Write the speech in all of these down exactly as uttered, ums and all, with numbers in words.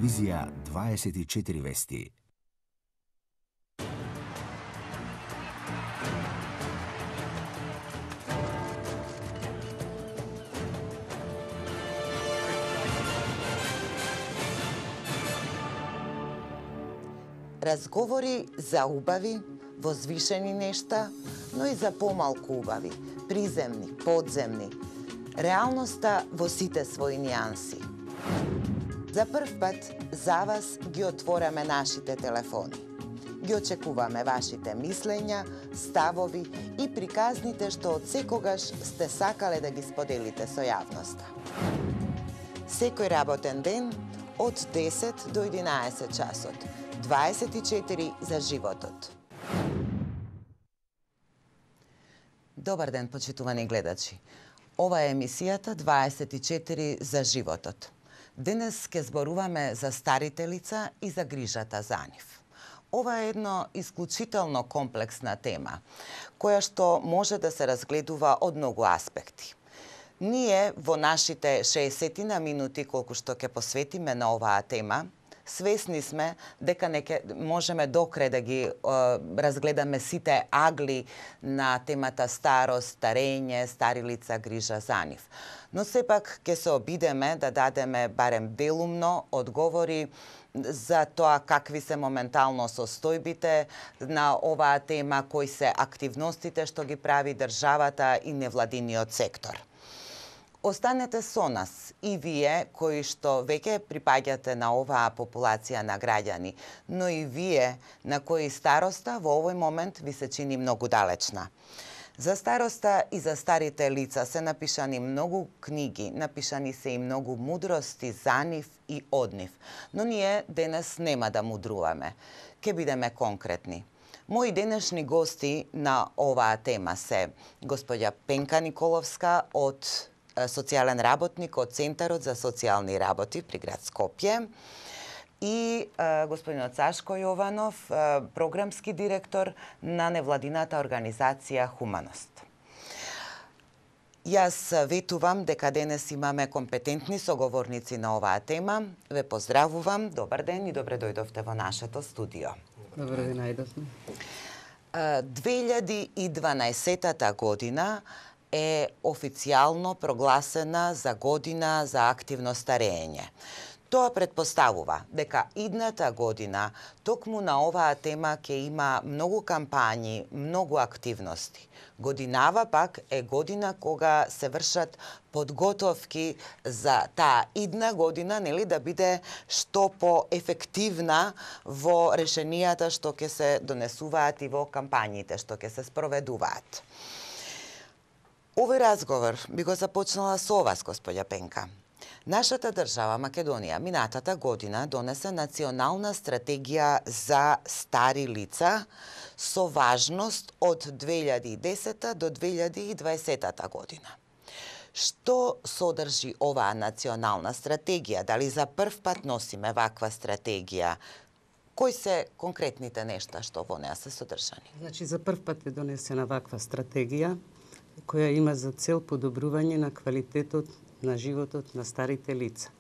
Телевизија дваесет и четири вести. Разговори за убави, возвишени нешта, но и за помалку убави, приземни, подземни. Реалноста во сите своји нијанси. За прв пат за вас ги отвораме нашите телефони. Ги очекуваме вашите мислења, ставови и приказните што од секогаш сте сакале да ги споделите со јавноста. Секој работен ден од десет до единаесет часот. дваесет и четири за животот. Добар ден, почитувани гледачи. Ова е емисијата дваесет и четири за животот. Денес ќе зборуваме за старите лица и за грижата за нив. Ова е едно исклучително комплексна тема, која што може да се разгледува од многу аспекти. Ние во нашите шеесет минути колку што ќе посветиме на оваа тема, свесни сме дека не ке, можеме докрај да ги е, разгледаме сите агли на темата старост, старење, стари лица, грижа за нив. Но сепак ќе се обидеме да дадеме барем делумно одговори за тоа какви се моментално состојбите на оваа тема, кои се активностите што ги прави државата и невладиниот сектор. Останете со нас и вие кои што веќе припаѓате на оваа популација на граѓани, но и вие на кои староста во овој момент ви се чини многу далечна. За староста и за старите лица се напишани многу книги, напишани се и многу мудрости за нив и од нив. Но ние денес нема да мудруваме. Ке бидеме конкретни. Мои денешни гости на оваа тема се господја Пенка Николовска од социјален работник од Центарот за социјални работи при град Скопје и е, господинот Сашко Јованов, е, програмски директор на невладината организација Хуманост. Јас ветувам дека денес имаме компетентни соговорници на оваа тема. Ве поздравувам, добар ден и добре дојдовте во нашето студио. Добар ден, најдовме. две илјади и дванаесета година е официјално прогласена за година за активно старење. Тоа предпоставува дека идната година токму на оваа тема ќе има многу кампањи, многу активности. Годинава пак е година кога се вршат подготовки за таа идна година, нели, да биде што поефективна во решенијата што ќе се донесуваат и во кампањите што ќе се спроведуваат. Овој разговор би го започнала со вас, господја Пенка. Нашата држава, Македонија, минатата година донесе национална стратегија за стари лица со важност од две илјади и десета до две илјади и дваесета година. Што содржи оваа национална стратегија? Дали за прв пат носиме ваква стратегија? Кои се конкретните нешта што во неа се содржани? Значи, за прв пат е донесена ваква стратегија која има за цел подобрување на квалитетот на животот на старите лица.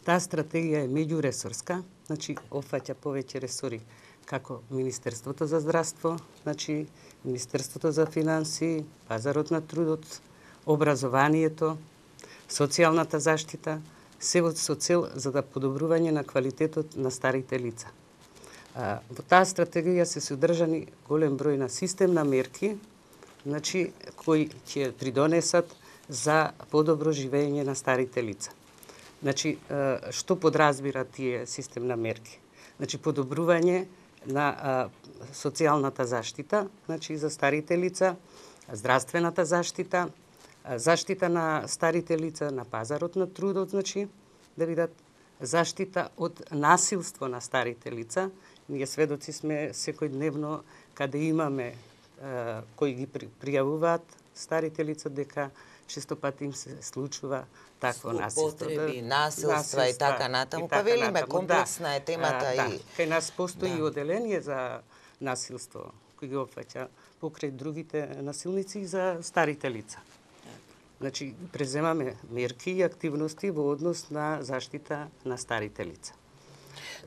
Таа стратегија е меѓуресорска, значи опфаќа повеќе ресори, како Министерството за здравство, значи Министерството за финансии, пазарот на трудот, образованието, социјалната заштита, се со цел за да подобрување на квалитетот на старите лица. Во таа стратегија се содржани голем број на системна мерки, значи кои ќе придонесат за подобро живење на старите лица. Значи, што подразбира тие системна мерки? Значи, подобрување на социјалната заштита, значи за старите лица, здравствената заштита, заштита на старите лица на пазарот на трудот, значи да бидат заштита од насилство на старите лица. Ние сведоци сме секојдневно каде имаме кои ги пријавуваат старите лица дека често пати им се случува такво насилство. Употреби, насилства и така натаму. Па велиме, комплексна да, е темата а, да. и... Кај нас постои да. оделение за насилство, кој ги опфаќа покрај другите насилници и за старите лица. Значи, преземаме мерки и активности во однос на заштита на старите лица.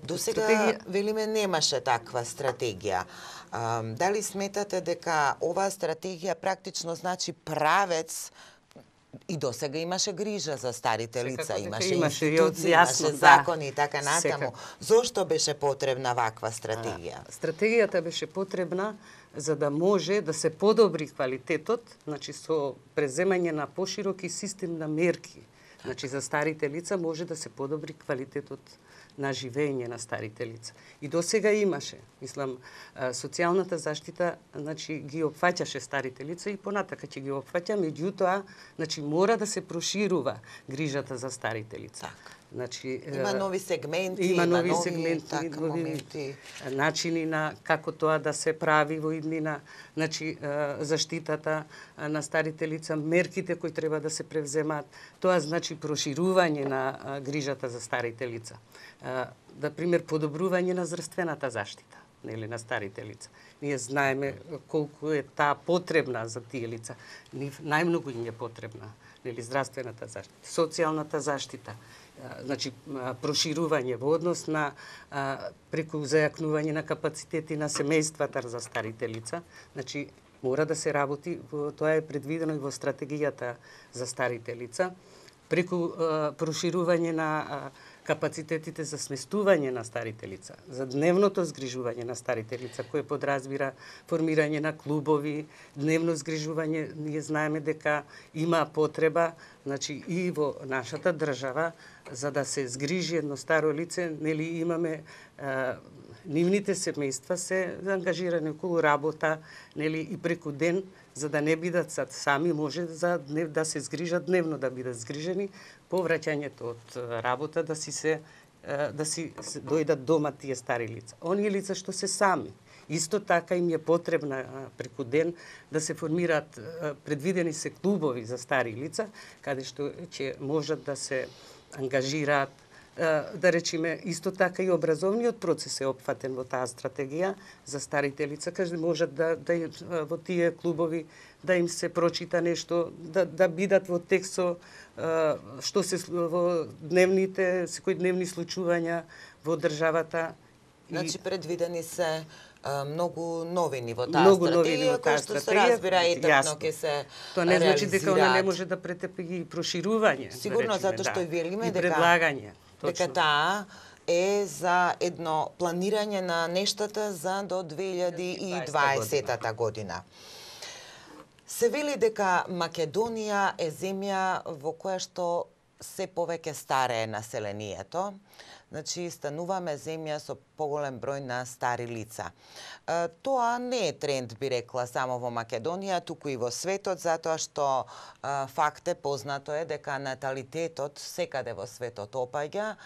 До сега, стратегија... велиме, немаше таква стратегија. А, дали сметате дека оваа стратегија практично значи правец? И до сега имаше грижа за старите лица, Секако имаше, имаше, институции, јасно, имаше да. закони и така натаму. Секако. Зошто беше потребна ваква стратегија? А, стратегијата беше потребна за да може да се подобри квалитетот, значи со преземање на пошироки систем на мерки. Значи за старите лица може да се подобри квалитетот на живење на старите лица. И до сега имаше, мислам, социјалната заштита, значи ги опфаќаше старите лица и понатака ќе ги опфаќа, меѓутоа, значи мора да се проширува грижата за старите лица. Така. Значи, Има нови сегменти, има нови, нови сегменти, така, нови моменти. начини на како тоа да се прави во иднина, значи заштитата на старите лица, мерките кои треба да се превземат. Тоа значи проширување на грижата за старите лица. Да пример подобрување на здравствената заштита, нели, на старите лица. Ние знаеме колку е таа потребна за тие лица. Нив најмногу им е потребна, нели, здравствената заштита, социјалната заштита. Значи проширување во однос на а, преку зајакнување на капацитети на семејствата за старите лица. Значи мора да се работи, тоа е предвидено и во стратегијата за старите лица, преку а, проширување на а, капацитетите за сместување на старите лица, за дневното згрижување на старите лица, кое подразбира формирање на клубови, дневно згрижување. Ние знаеме дека има потреба, значи и во нашата држава, за да се згрижи едно старо лице, нели имаме а, нивните семејства се ангажирани околу работа, нели и преку ден, за да не бидат сами, може за днев, да се згрижат дневно, да бидат згрижени по враќањето од работа, да си се да си се дојдат дома тие стари лица. Оние лица што се сами, исто така им е потребна преку ден да се формираат, предвидени се клубови за стари лица, каде што ќе можат да се ангажираат, да речеме, исто така и образовниот процес е опфатен во таа стратегија за старите лица, каде можат да, да во тие клубови да им се прочита нешто, да, да бидат во текст со што се во дневните, секојдневни случувања во државата. Значи предвидени се а, многу новини во таа Многу новини стратегија, во таа кои што се стратегија, разбира етапно јасно. ќе се Тоа не значи дека она не реализираат. може да претепи и проширување. Сигурно, да речеме, затоа што да. и велиме и дека- предлагање. дека Точно. таа е за едно планирање на нештата за до две илјади и дваесета година. Се вели дека Македонија е земја во која што се повеќе старее населението. Значи, стануваме земја со поголем број на стари лица. Е, Тоа не е тренд, би рекла, само во Македонија, туку и во светот, затоа што е, факт е, познато е дека наталитетот секаде во светот опаѓа,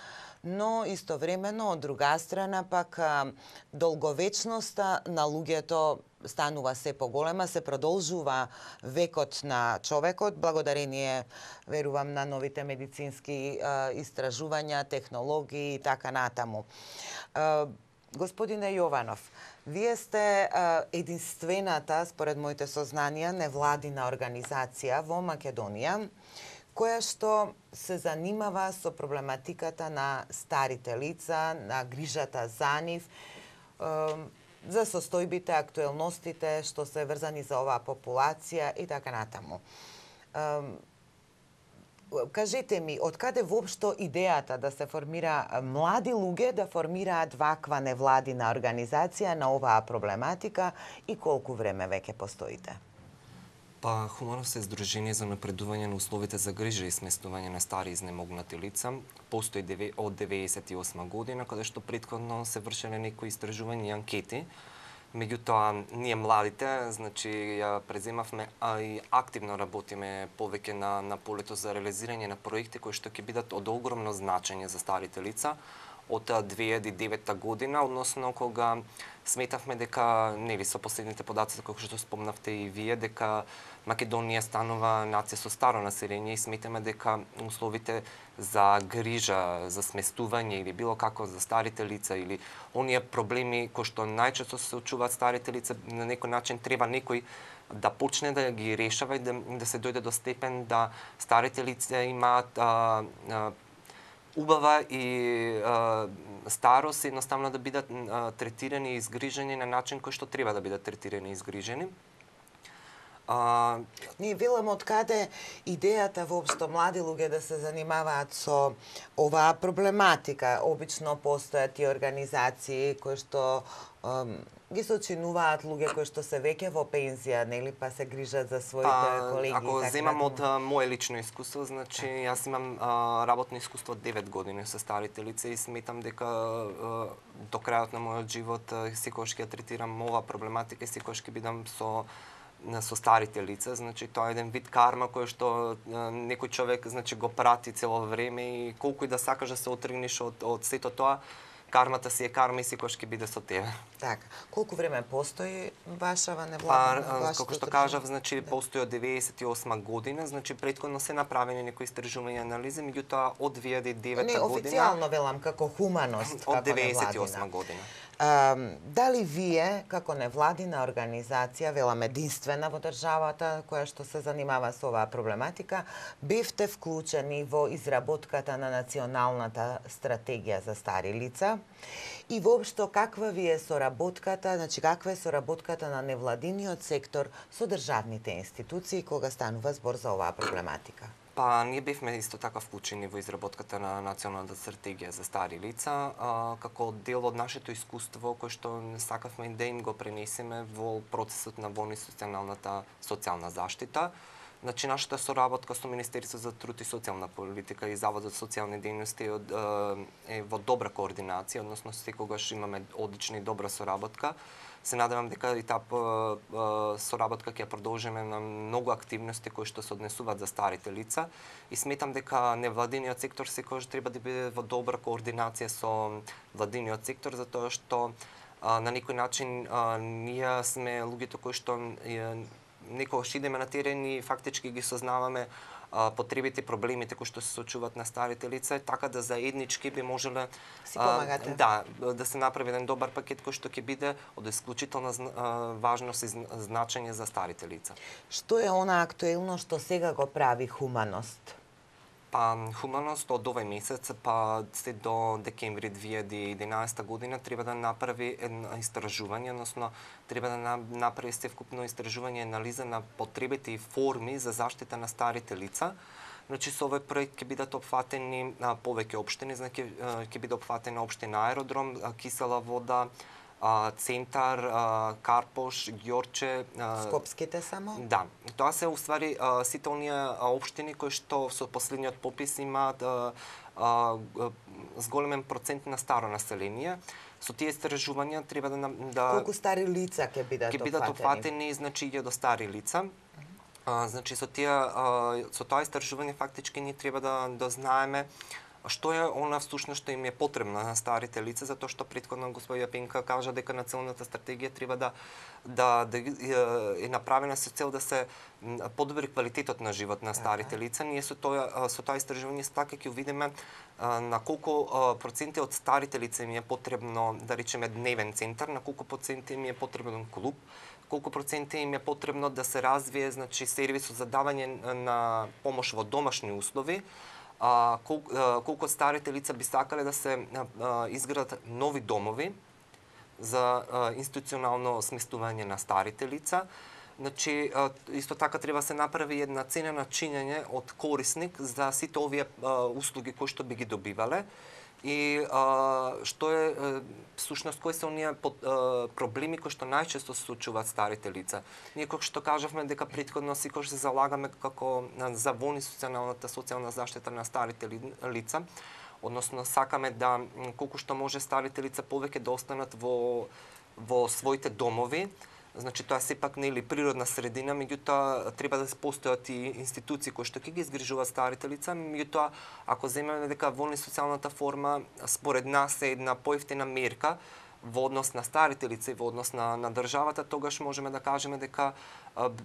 но истовремено, од друга страна, пак а, долговечноста на луѓето станува се поголема, се продолжува векот на човекот, благодарение, верувам, на новите медицински а, истражувања, технологии и така натаму. А, господине Јованов, вие сте а, единствената, според моите сознанија, невладина организација во Македонија, која што се занимава со проблематиката на старите лица, на грижата за нив, за состојбите, актуелностите што се врзани за оваа популација и така натаму. Кажете ми, од каде воопшто идејата да се формира млади луѓе да формираат ваква невладина организација на оваа проблематика и колку време веќе постоите? Па, Хуманос е Здружение за напредување на условите за грижа и сместување на стари изнемогнати лица. Постои од деветдесет и осма година, каде што претходно се вршеле некои истражувања и анкети. Меѓутоа, ние младите, значи, ја преземавме, а и активно работиме повеќе на, на полето за реализирање на проекти кои што ќе бидат од огромно значење за старите лица од две илјади и девета година, односно кога сметавме дека, нели, со последните податоци кои што спомнавте и вие, дека Македонија станува нација со старо население и сметаме дека условите за грижа, за сместување или било како за старите лица или оние проблеми кои што најчесто се случуваат старите лица, на некој начин треба некој да почне да ги решава и да, да се дојде до степен да старите лица имаат а, а, убава и а, старост едноставно да бидат а, третирани и изгрижени на начин кој што треба да бидат третирани и изгрижени. А... Ние велам од каде идејата воопшто млади луѓе да се занимаваат со оваа проблематика. Обично постојат и организации кои што ем, ги сочинуваат луѓе кои што се веќе во пензија, нели, па се грижат за своите па, колеги. Ако така земам да... од а, моје лично искуство, значи јас имам а, работно искуство од девет години со старите лица и сметам дека а, до крајот на мојот живот секогаш ќе третирам ова проблематика и секогаш ќе бидам со со старите лица, значи тоа е еден вид карма кој што а, некој човек значи го прати цело време и колку и да сакаш да се отргнеш од од сето тоа, кармата си е карма и секогаш ќе биде со тебе. Така. Колку време постои вашава Па, невладина? како што кажав, значи да. Постои од деветдесет и осма година, значи претходно се направени некои истражувања и анализи, меѓутоа од две илјади и девета Не, година. официјално велам како хуманост, од како деветдесет и осма година. А, дали вие, како невладина организација, велам единствена во државата која што се занимава со оваа проблематика, бевте вклучени во изработката на националната стратегија за стари лица? И воопшто каква ви е соработката, значи каква е соработката на невладиниот сектор со државните институции кога станува збор за оваа проблематика? Па, ние бевме исто така вклучени во изработката на националната стратегија за стари лица, а, како дел од нашето искуство кој што сакавме да им го пренесеме во процесот на воинституционалната социјална заштита. Значи, нашата соработка со Министерство за труд и социјална политика и Заводот за социјални дејности е, е во добра координација, односно секогаш имаме одлична и добра соработка. Се надевам дека и таа соработка ќе продолжиме на многу активности кои што се однесуваат за старите лица и сметам дека невладиниот сектор секогаш треба да биде во добра координација со владиниот сектор, затоа што а, на некој начин а, ние сме луѓето кои што е, некогаш идеме на терен и фактички ги сознаваме а, потребите, проблемите кои што се соочуваат на старите лица, така да заеднички би можеле си помагате. Да, да се направи еден добар пакет кој што ќе биде од исклучителна важност и значење за старите лица. Што е она актуелно што сега го прави хуманост? Па, хуманост од овој месец, па се до декември две илјади и единаесета година треба да направи едно истражување, односно треба да направи севкупно истражување и анализа на потребите и форми за заштита на старите лица. Значи, со овој проект ќе бидат опфатени а, повеќе општини, значи ќе биде опфатена општина Аеродром, а, Кисела вода, а, Центар, а, Карпош, Ѓорче. А, Скопските само? Да. Тоа се уствари а, сите оние општини кои што со последниот попис имаат а, а, зголемен процент на старо население. Со тие истражувања треба да да Колку стари лица ќе бидат ќе бидат опфатени, значи илјада стари лица. А, значи со тие а, со тоа истражување фактички ние треба да да знаеме што е она всушност што им е потребно на старите лица, затоа што претходно господја Пенка кажа дека националната стратегија треба да да, да е направена со цел да се подобри квалитетот на живот на старите лица. Ние со тоа со тоа истражување така ќе видиме на колку проценти од старите лица им е потребно, да речеме, дневен центар, на колку проценти им е потребен клуб, колку проценти им е потребно да се развие, значи, сервис за давање на помош во домашни услови. А, колку, а, колку старите лица би сакале да се а, изградат нови домови за а, институционално сместување на старите лица. Значи, а, исто така треба се направи една цена на чинење од корисник за сите овие а, услуги кои што би ги добивале и а, што е всушност кои се оние проблеми кои што најчесто се случуваат старите лица. Ние како што кажавме дека претходно секогаш се залагаме како за воинституционалната социјална заштита на старите лица, односно сакаме да колку што може старите лица повеќе да останат во во своите домови. Значи, тоа сепак нели природна средина, меѓутоа треба да постојат и институции кои што ќе ги изгрижуваат старите лица, меѓутоа ако земеме дека воинституционалната форма според нас е една поевтина мерка, во однос на старите лица и во однос на, на државата, тогаш можеме да кажеме дека,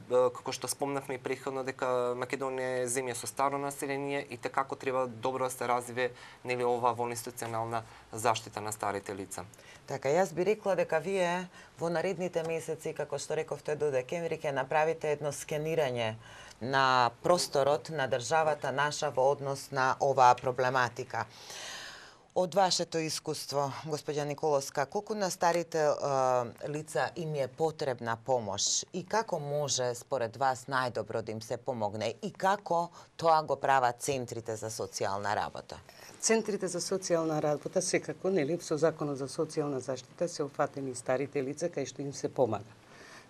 како што спомнавме и претходно, дека Македонија е земја со старо население и те како треба добро да се развие нели ова во институционална заштита на старите лица. Така, јас би рекла дека вие во наредните месеци, како што рековте до декември, ќе направите едно скенирање на просторот на државата наша во однос на оваа проблематика. Од вашето искуство, господја Николовска, колку на старите е, лица им е потребна помош и како може според вас најдобро да им се помогне и како тоа го прават центрите за социјална работа? Центрите за социјална работа секако, нели, со Законот за социјална заштита се опфатени старите лица кај што им се помага.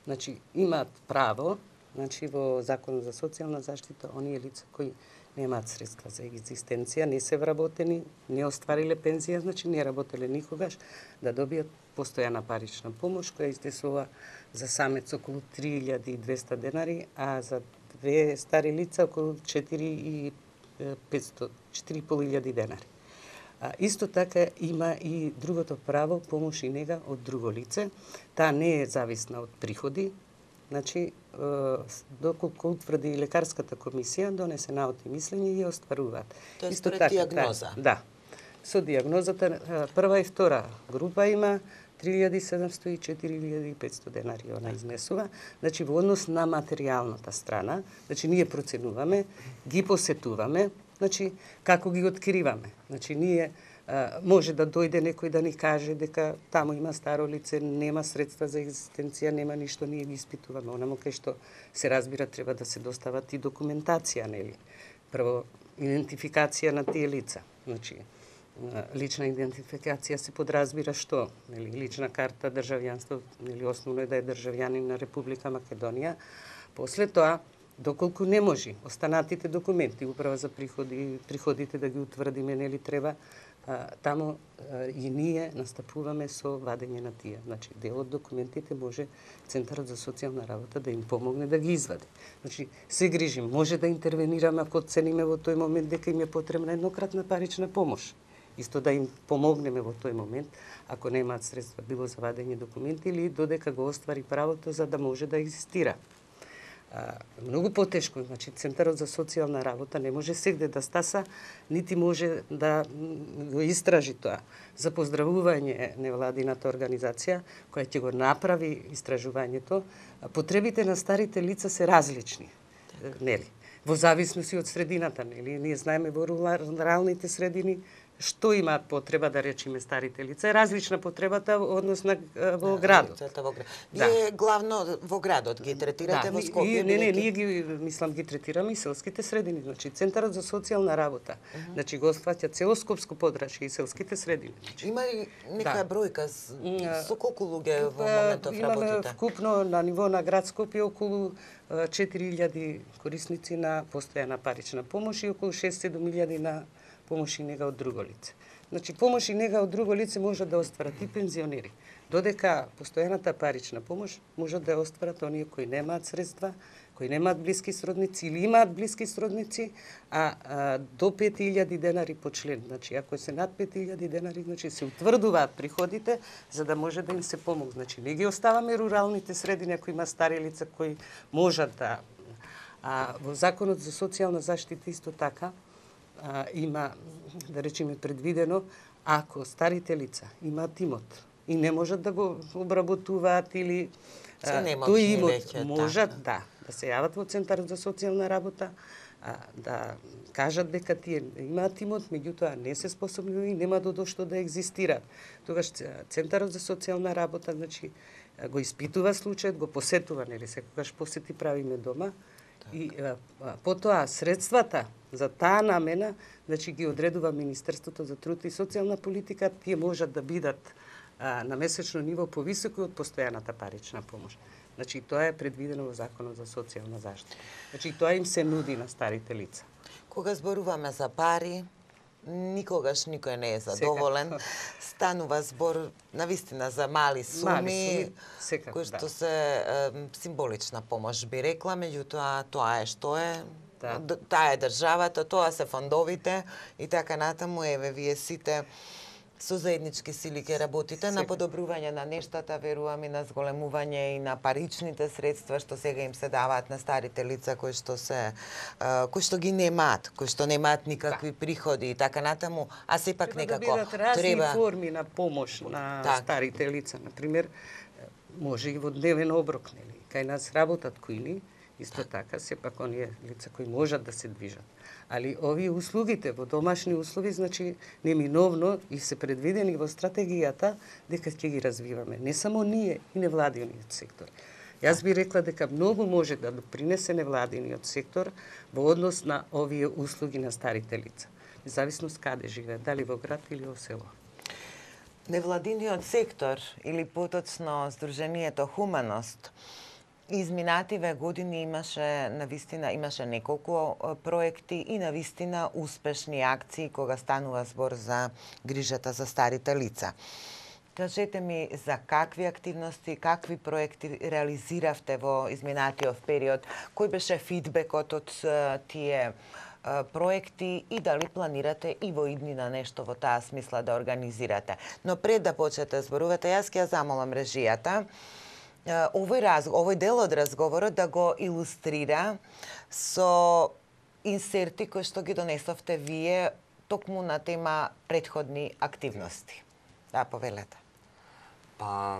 Значи, имаат право, значи во Законот за социјална заштита, оние лица кои немаат средства за екзистенција, не се вработени, не оствариле пензија, значи не работеле никогаш, да добијат постојана парична помош, која изнесува за самец околу три илјади и двесте денари, а за две стари лица околу четири и петстотини, четири и пол илјади денари. А, исто така има и другото право, помош и нега од друго лице. Таа не е зависна од приходи, значи, доколку утврди лекарската комисија, донесе наоти мислење и ја остваруваат. Тоа е според дијагноза? Да. Со дијагнозата прва и втора група има три илјади и седумстотини и четири илјади и петстотини денари она изнесува. Значи, во однос на материјалната страна, значи, ние проценуваме, ги посетуваме, значи, како ги откриваме. Значи, ние може да дојде некој да ни каже дека таму има старо лице, нема средства за екзистенција, нема ништо, ние ги испитуваме. Онамо кај што се разбира треба да се достават и документација, нели? Прво, идентификација на тие лица. Значи, лична идентификација се подразбира што? Нели, лична карта, државјанство, нели, основно е да е државјанин на Република Македонија. После тоа, доколку не може, останатите документи, управа за приходи, приходите да ги утврдиме, нели, треба, а, таму а, и ние настапуваме со вадење на тие. Значи, дел од документите може Центарот за социјална работа да им помогне да ги извади. Значи, се грижим, може да интервенираме ако оцениме во тој момент дека им е потребна еднократна парична помош. Исто да им помогнеме во тој момент, ако немаат средства, било за вадење документи или додека го оствари правото за да може да екзистира. А, многу потешко, значи Центарот за социјална работа не може сегде да стаса, нити може да го истражи тоа. За поздравување невладината организација која ќе го направи истражувањето, потребите на старите лица се различни, нели? Во зависност од средината, нели? Ние знаеме во руралните средини што имаат потреба, да речеме, старите лица. Е различна потребата односно во градот. Во град. Вие да. главно во градот ги третирате, да, во Скопје? Не, не, ние ги, мислам, ги третираме и селските средини. Значи, Центарот за социјална работа, uh -huh. значи, го сваќа цело Скопско подрачје и селските средини. Значи, има ли некоја да. бројка со колку луѓе во моментов работите? Имаме вкупно на ниво на град Скопје околу четири илјади корисници на постојана парична помош и околу шест-седум илјади на помош и нега од друго лице. Значи, помош и нега од друго лице може да остварат и пензионери, додека постојаната парична помош може да ја остварат оние кои немаат средства, кои немаат блиски сродници или имаат блиски сродници, а, а до пет илјади денари по член. Значи, ако се над пет илјади денари, значи се утврдуваат приходите за да може да им се помогне. Значи, не ги оставаме руралните средини ако има стари лица кои можат да... А во Законот за социјална заштита исто така, А, има, да речеме, предвидено, ако старите лица имаат имот и не можат да го обработуваат или а, тој имот веќе, можат, да. да, да се јават во Центарот за социјална работа, а, да кажат дека тие имаат имот, меѓутоа не се способни и нема додо што да екзистираат. Тогаш Центарот за социјална работа, значи, го испитува случајот, го посетува, нели, секогаш посети правиме дома, и а, потоа средствата за таа намена, значи ги одредува Министерството за труд и социјална политика, тие можат да бидат а, на месечно ниво повисоки од постојаната парична помош. Значи тоа е предвидено во Законот за социјална заштита. Значи тоа им се нуди на старите лица. Кога зборуваме за пари, никогаш никој не е задоволен. Секако. Станува збор навистина за мали суми, мали суми кои што да. се е, символична помош би рекла, меѓутоа тоа е што е. Да. Таа е државата, тоа се фондовите и така натаму. Еве, вие сите Со заеднички сили ќе работите на подобрување на нештата, верувам и на зголемување и на паричните средства што сега им се даваат на старите лица кои што се кои што ги немаат, кои што немаат никакви приходи и така натаму, а сепак некако треба да бидат разни треба форми на помош на так. старите лица, на пример, може и во дневен оброк, нели? Кај нас работат кујни, исто така, сепак оние лица кои можат да се движат. Али овие услугите во домашни услови, значи, неминовно и се предвидени во стратегијата дека ќе ги развиваме. Не само ние и невладиниот сектор. Јас би рекла дека многу може да допринесе невладиниот сектор во однос на овие услуги на старите лица. Независност каде живеат, дали во град или во село. Невладиниот сектор или поточно Сдруженијето Хуманост изминативе години имаше навистина имаше неколку проекти и навистина успешни акции кога станува збор за грижата за старите лица. Кажете ми за какви активности, какви проекти реализиравте во изминатиот период, кој беше фидбекот од тие проекти и дали планирате и во иднина нешто во таа смисла да организирате. Но пред да почнете зборувате, јас ќе ја замолам режијата овој раз, овој дел од разговорот да го илустрира со инсерти кои што ги донесовте вие токму на тема претходни активности. Да, повелете. Па,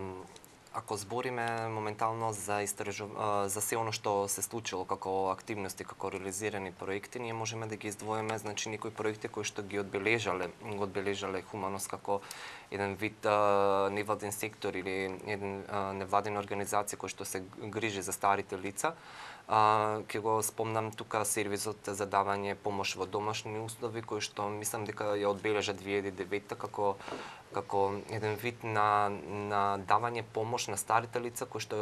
ако збориме моментално за истражу... за се оно што се случило како активности, како реализирани проекти, ние можеме да ги издвоиме, значи некои проекти кои што ги одбележале, го одбележале Хуманост како еден вид а, невладен сектор или еден а, невладена организација кој што се грижи за старите лица. А, ке го спомнам тука сервисот за давање помош во домашни услови, кој што мислам дека ја одбележа две илјади и девета како како еден вид на на давање помош на старите лица кој што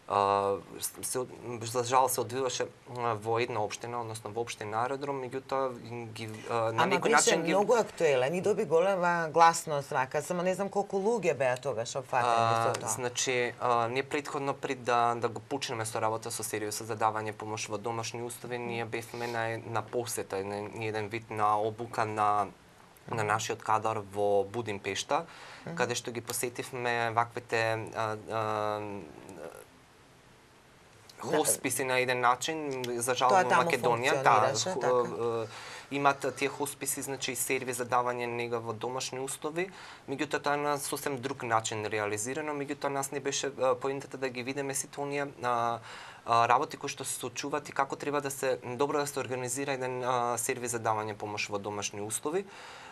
а, се за жал се одвиваше во една општина, односно во општина Аеродром, меѓутоа ги а, на Ама некој начин ги многу актуелен и доби голема гласност вака, само не знам колку луѓе беа тогаш опфатени со тоа. Значи, а, ние претходно пред да да го почнеме со работа со сервисот за давање помош во домашни услови, ние бевме на на посета, на еден вид на обука на на нашиот кадар во Будимпешта, mm-hmm. каде што ги посетивме ваквите а, а, хосписи на еден начин, за жал во Македонија, да, така. Имат тие хосписи, значи сервис за давање нега во домашни услови, меѓутоа тоа на сосем друг начин реализирано, меѓутоа нас не беше поентата да ги видиме сите оние работи кои што се случуваат и како треба да се добро да се организира еден сервис за давање помош во домашни услови.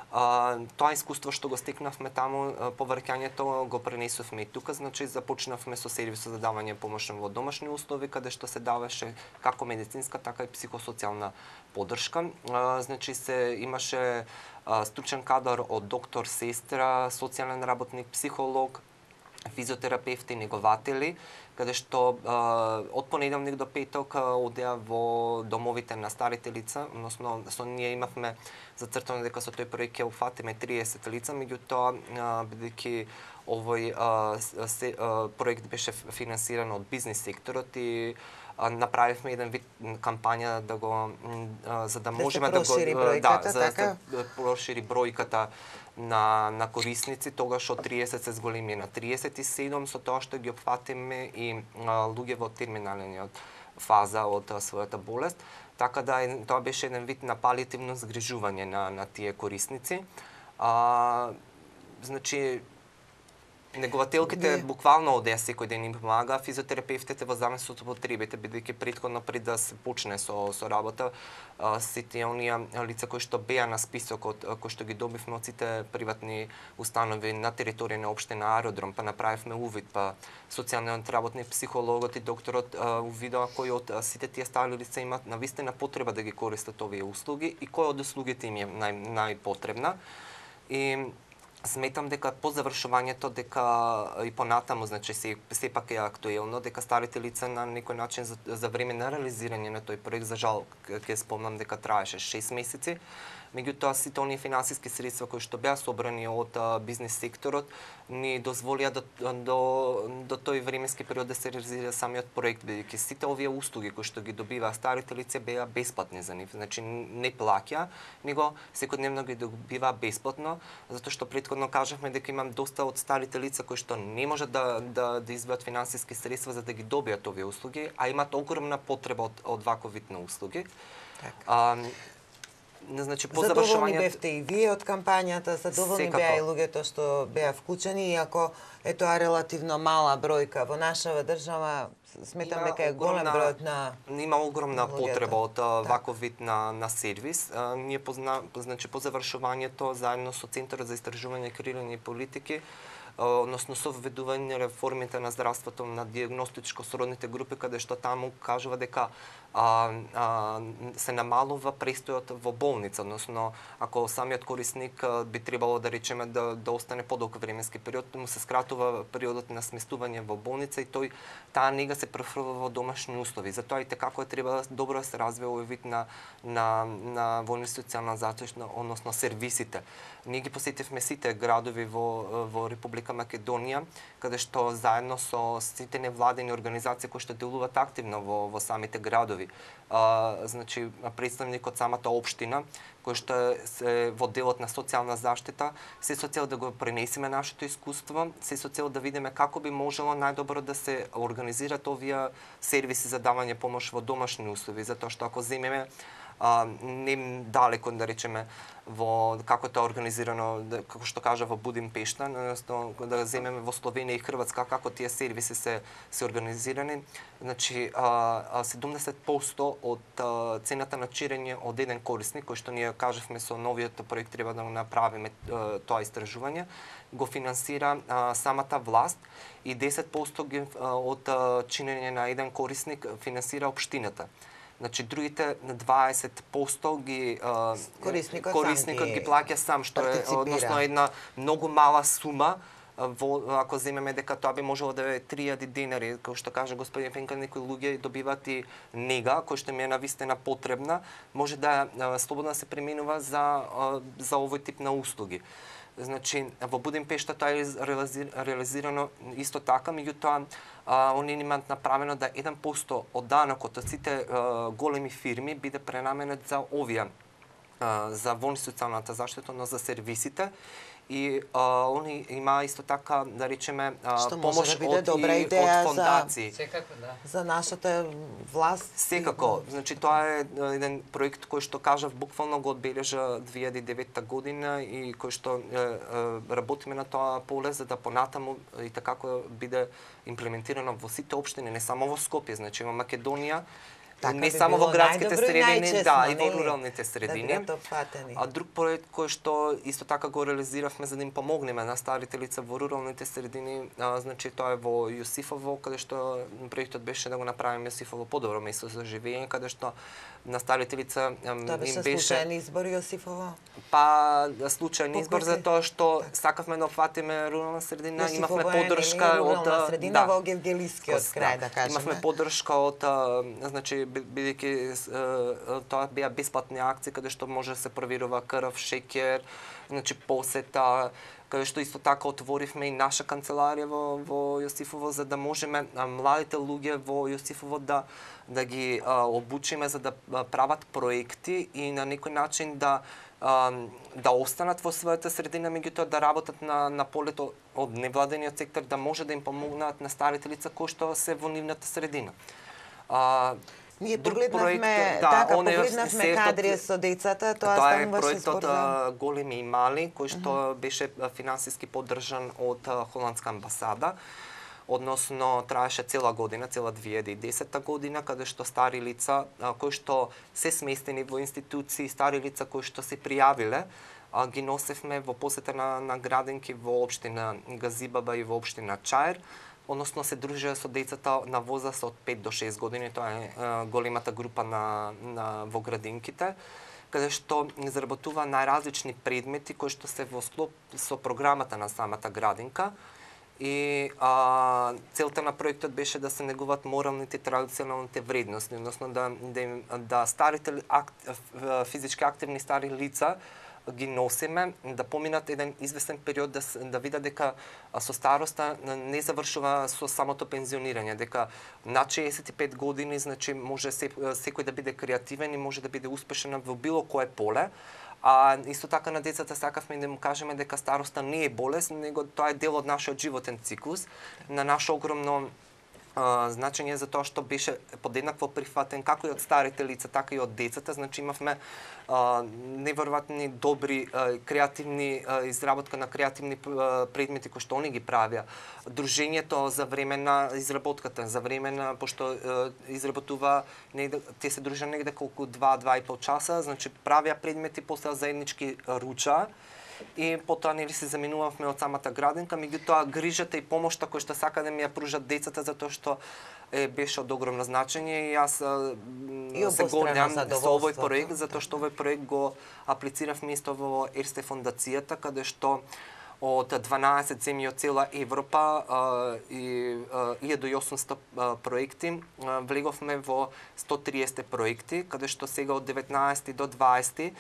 Uh, тоа искуство што го стекнавме таму, uh, повраќањето го пренесовме и тука, значи започнавме со сервисот за давање помош во домашни услови, каде што се даваше како медицинска, така и психосоцијална поддршка. Uh, значи се имаше uh, стручен кадар од доктор, сестра, социјален работник, психолог, физиотерапевти, негователи, каде што а, од понеделник до петок одеа во домовите на старите лица, односно со ние имавме зацртано дека со тој проект ќе опфатиме триесет лица, меѓутоа бидејќи овој а, се, а, проект беше финансиран од бизнис секторот и а, направивме еден вид кампања да го а, за да можеме да, да го бројката, да за така? да прошири бројката на на корисници, тогаш од триесет се зголеми на триесет и седум, со тоа што ги опфатиме и а, луѓе во терминалниот фаза од а, својата болест. Така да тоа беше еден вид на палиативно згрижување на на тие корисници. А, значи негователките Не. буквално одеа секој ден им помага, физиотерапевтите во зависност од потребите, бидејќи претходно пред да се почне со со работа, а, сите оние лица кои што беа на списокот, кои што ги добивме од сите приватни установи на територија на општина Аеродром, па направивме увид, па социјалниот работник, психологот и докторот а, увидоа кои од а, сите тие стари лица имаат навистина потреба да ги користат овие услуги и кој од услугите им е нај најпотребна. И сметам дека по завршувањето дека и понатаму, значи се сепак е актуелно дека старите лица на некој начин за, за време на реализирање на тој проект, за жал ќе спомнам дека траеше шест месеци, Меѓутоа сите оние финансиски средства кои што беа собрани од а, бизнес секторот ни дозволија до, до, до тој временски период да се реализира самиот проект, бидејќи сите овие услуги кои што ги добиваа старите лица беа бесплатни за нив, значи не плаќа, него секојдневно ги добиваа бесплатно, затоа што претходно кажавме дека имам доста од старите лица кои што не можат да да, да избават финансиски средства за да ги добијат овие услуги, а имаат огромна потреба од од ваков вид на услуги. Така. А, значи по Задоволни завршувањето бевте и вие од кампањата, задоволни Секако. беа и луѓето што беа вклучени, иако е тоа релативно мала бројка во нашава држава, сметам дека е голем бројот на има огромна луѓето. потреба од а, ваков вид на на сервис. А, ние позна, значи по завршувањето заедно со Центарот за истражување, креирање и политики, односно со введување реформите на здравството на дијагностичко сродните групи, каде што таму кажува дека а, а, се намалува престојот во болница, односно ако самиот корисник а, би требало да речеме да да остане подолг временски период, му се скратува периодот на сместување во болница и тој таа нега се префрлува во домашни услови. Затоа и како е треба добро да се развива овој вид на на на во социјална заштита, односно сервисите. Ние ги посетивме сите градови во во Република Македонија, каде што заедно со сите невладени организации кои што делуваат активно во во самите градови. А, значи представник од самата општина кој што е во делот на социјална заштита, се со цел да го пренесеме нашето искуство, се со цел да видиме како би можело најдобро да се организираат овие сервиси за давање помош во домашни услови, затоа што ако земеме а, не далеко да речеме во како тоа организирано, како што кажа во Будимпешта, односно да земеме во Словенија и Хрватска како тие сервиси се се организирани, значи а, седумдесет проценти од а, цената на чирење од еден корисник, кој што ние кажавме со новиот проект треба да го направиме а, тоа истражување, го финансира а, самата власт и десет проценти ги, а, од а, чинење на еден корисник финансира општината. Значи другите дваесет проценти ги а, Корисникот корисникот сам ги плаќа сам, што е партиципира. односно една многу мала сума. Во, ако земеме дека тоа би можело да е три илјади денари, како што кажа господин Пенка, некои луѓе добиваат и нега, кој што ми е навистина потребна, може да а, слободно се применува за а, за овој тип на услуги. Значи, во Будимпешта тоа е реализирано исто така, меѓутоа они имаат направено да еден проценти од данокот од сите а, големи фирми биде пренаменет за овие, а, за во социјалната заштита, но за сервисите. И а, они има исто така, да речеме, а, помош да биде од, добра и, идеја од фондации. Секако, да. за нашата власт. Секако, значи тоа е еден проект кој што кажав буквално го одбележа две илјади и девета година и кој што е, е, работиме на тоа поле за да понатаму и така биде имплементирано во сите општини, не само во Скопје, значи во Македонија. Така не би само било во градските најдобро и средини, да, и во нели? руралните средини. Да бидат опфатени. А друг проект кој што исто така го реализиравме за да им помогнеме на старите лица во руралните средини, а, значи тоа е во Јосифово, каде што проектот беше да го направиме Јосифово подобро место за живење, каде што на старите лица им Тоа беше беше случаен избор Јосифово. па случаен избор Покрути. за тоа што сакавме да опфатиме рурална средина, Јосифово имавме е, поддршка нели, од рурална средина да, во Гевгелискиот крај, да кажеме. Имавме поддршка од а, значи бидејќи тоа беа бесплатни акции каде што може да се проверува крв, шеќер, значи посета, каде што исто така отворивме и наша канцеларија во во Јосифово за да можеме а, младите луѓе во Јосифово да да ги а, обучиме за да а, прават проекти и на некој начин да а, да останат во својата средина, меѓутоа да работат на на полето од невладениот сектор, да може да им помогнат на старите лица кои што се во нивната средина. А, Ние друг погледнавме, проект, да, така, оне погледнавме сетот- кадри со децата, тоа, Тоа е стануваше проектот збор за... а, Големи и мали, кој што uh -huh. беше а, финансиски поддржан од а, Холандска амбасада. Односно, траеше цела година, цела две илјади и десета година, каде што стари лица а, кои што се сместени во институции, стари лица кои што се пријавиле, а, ги носевме во посета на, на градинки во општина Газибаба и во општина Чаир, односно се дружеа со децата на возраст од пет до шест години, тоа е а, големата група на, на во градинките, каде што заработува најразлични предмети кои што се во склоп со програмата на самата градинка И а, целта на проектот беше да се негуваат моралните и традиционалните вредности, односно да, да, да старите акт, физички активни стари лица ги носиме, да поминат еден известен период, да, да видат дека со староста не завршува со самото пензионирање, дека на шеесет и пет години, значи, може секој да биде креативен и може да биде успешен во било кое поле. А исто така на децата сакавме да му кажеме дека староста не е болест, него тоа е дел од нашиот животен циклус, на наше огромно Uh, значење за тоа што беше подеднакво прифатен како и од старите лица, така и од децата. Значи имавме uh, неверојатни добри uh, креативни uh, изработка на креативни uh, предмети кои што они ги правија. Дружењето за време на изработката, за време на пошто uh, изработува негде, те се дружат негде колку два-два и пол часа, значи правија предмети, после заеднички руча. И потоа нели се заминувавме од самата градинка, меѓутоа грижата и помошта која што сака да ми ја пружат децата, затоа што е, беше од огромно значење и јас и се гордам со овој проект, затоа што овој проект го аплициравме исто во Ерсте фондацијата, каде што од дванаесет земји од цела Европа и илјада и осумстотини проекти влеговме во сто триесет проекти, каде што сега од деветнаесети до дваесети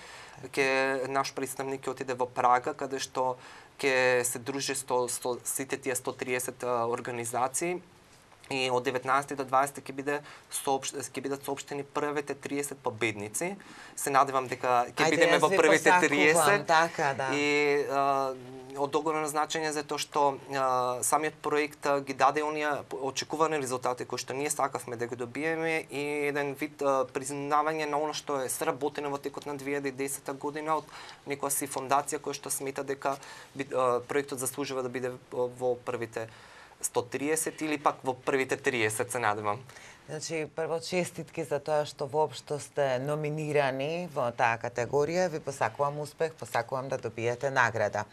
ке наш представник ќе отиде во Прага, каде што ќе се дружи со, со сите тие сто триесет организации. И од деветнаесети до дваесети ќе биде соопш... ќе бидат соопштени првите триесет победници. Се надевам дека ќе бидеме во првите триесет. Така, да. И а, од огромно значење затоа што а, самиот проект а, ги даде оние очекувани резултати кои што ние сакавме да ги добиеме и еден вид а, признавање на оно што е сработено во текот на две илјади и десета година од некоја си фондација која што смета дека а, проектот заслужува да биде во првите сто триесет или пак во првите триесет, се надевам. Значи, прво честитки за тоа што воопшто сте номинирани во таа категорија. Ви посакувам успех, посакувам да добиете награда.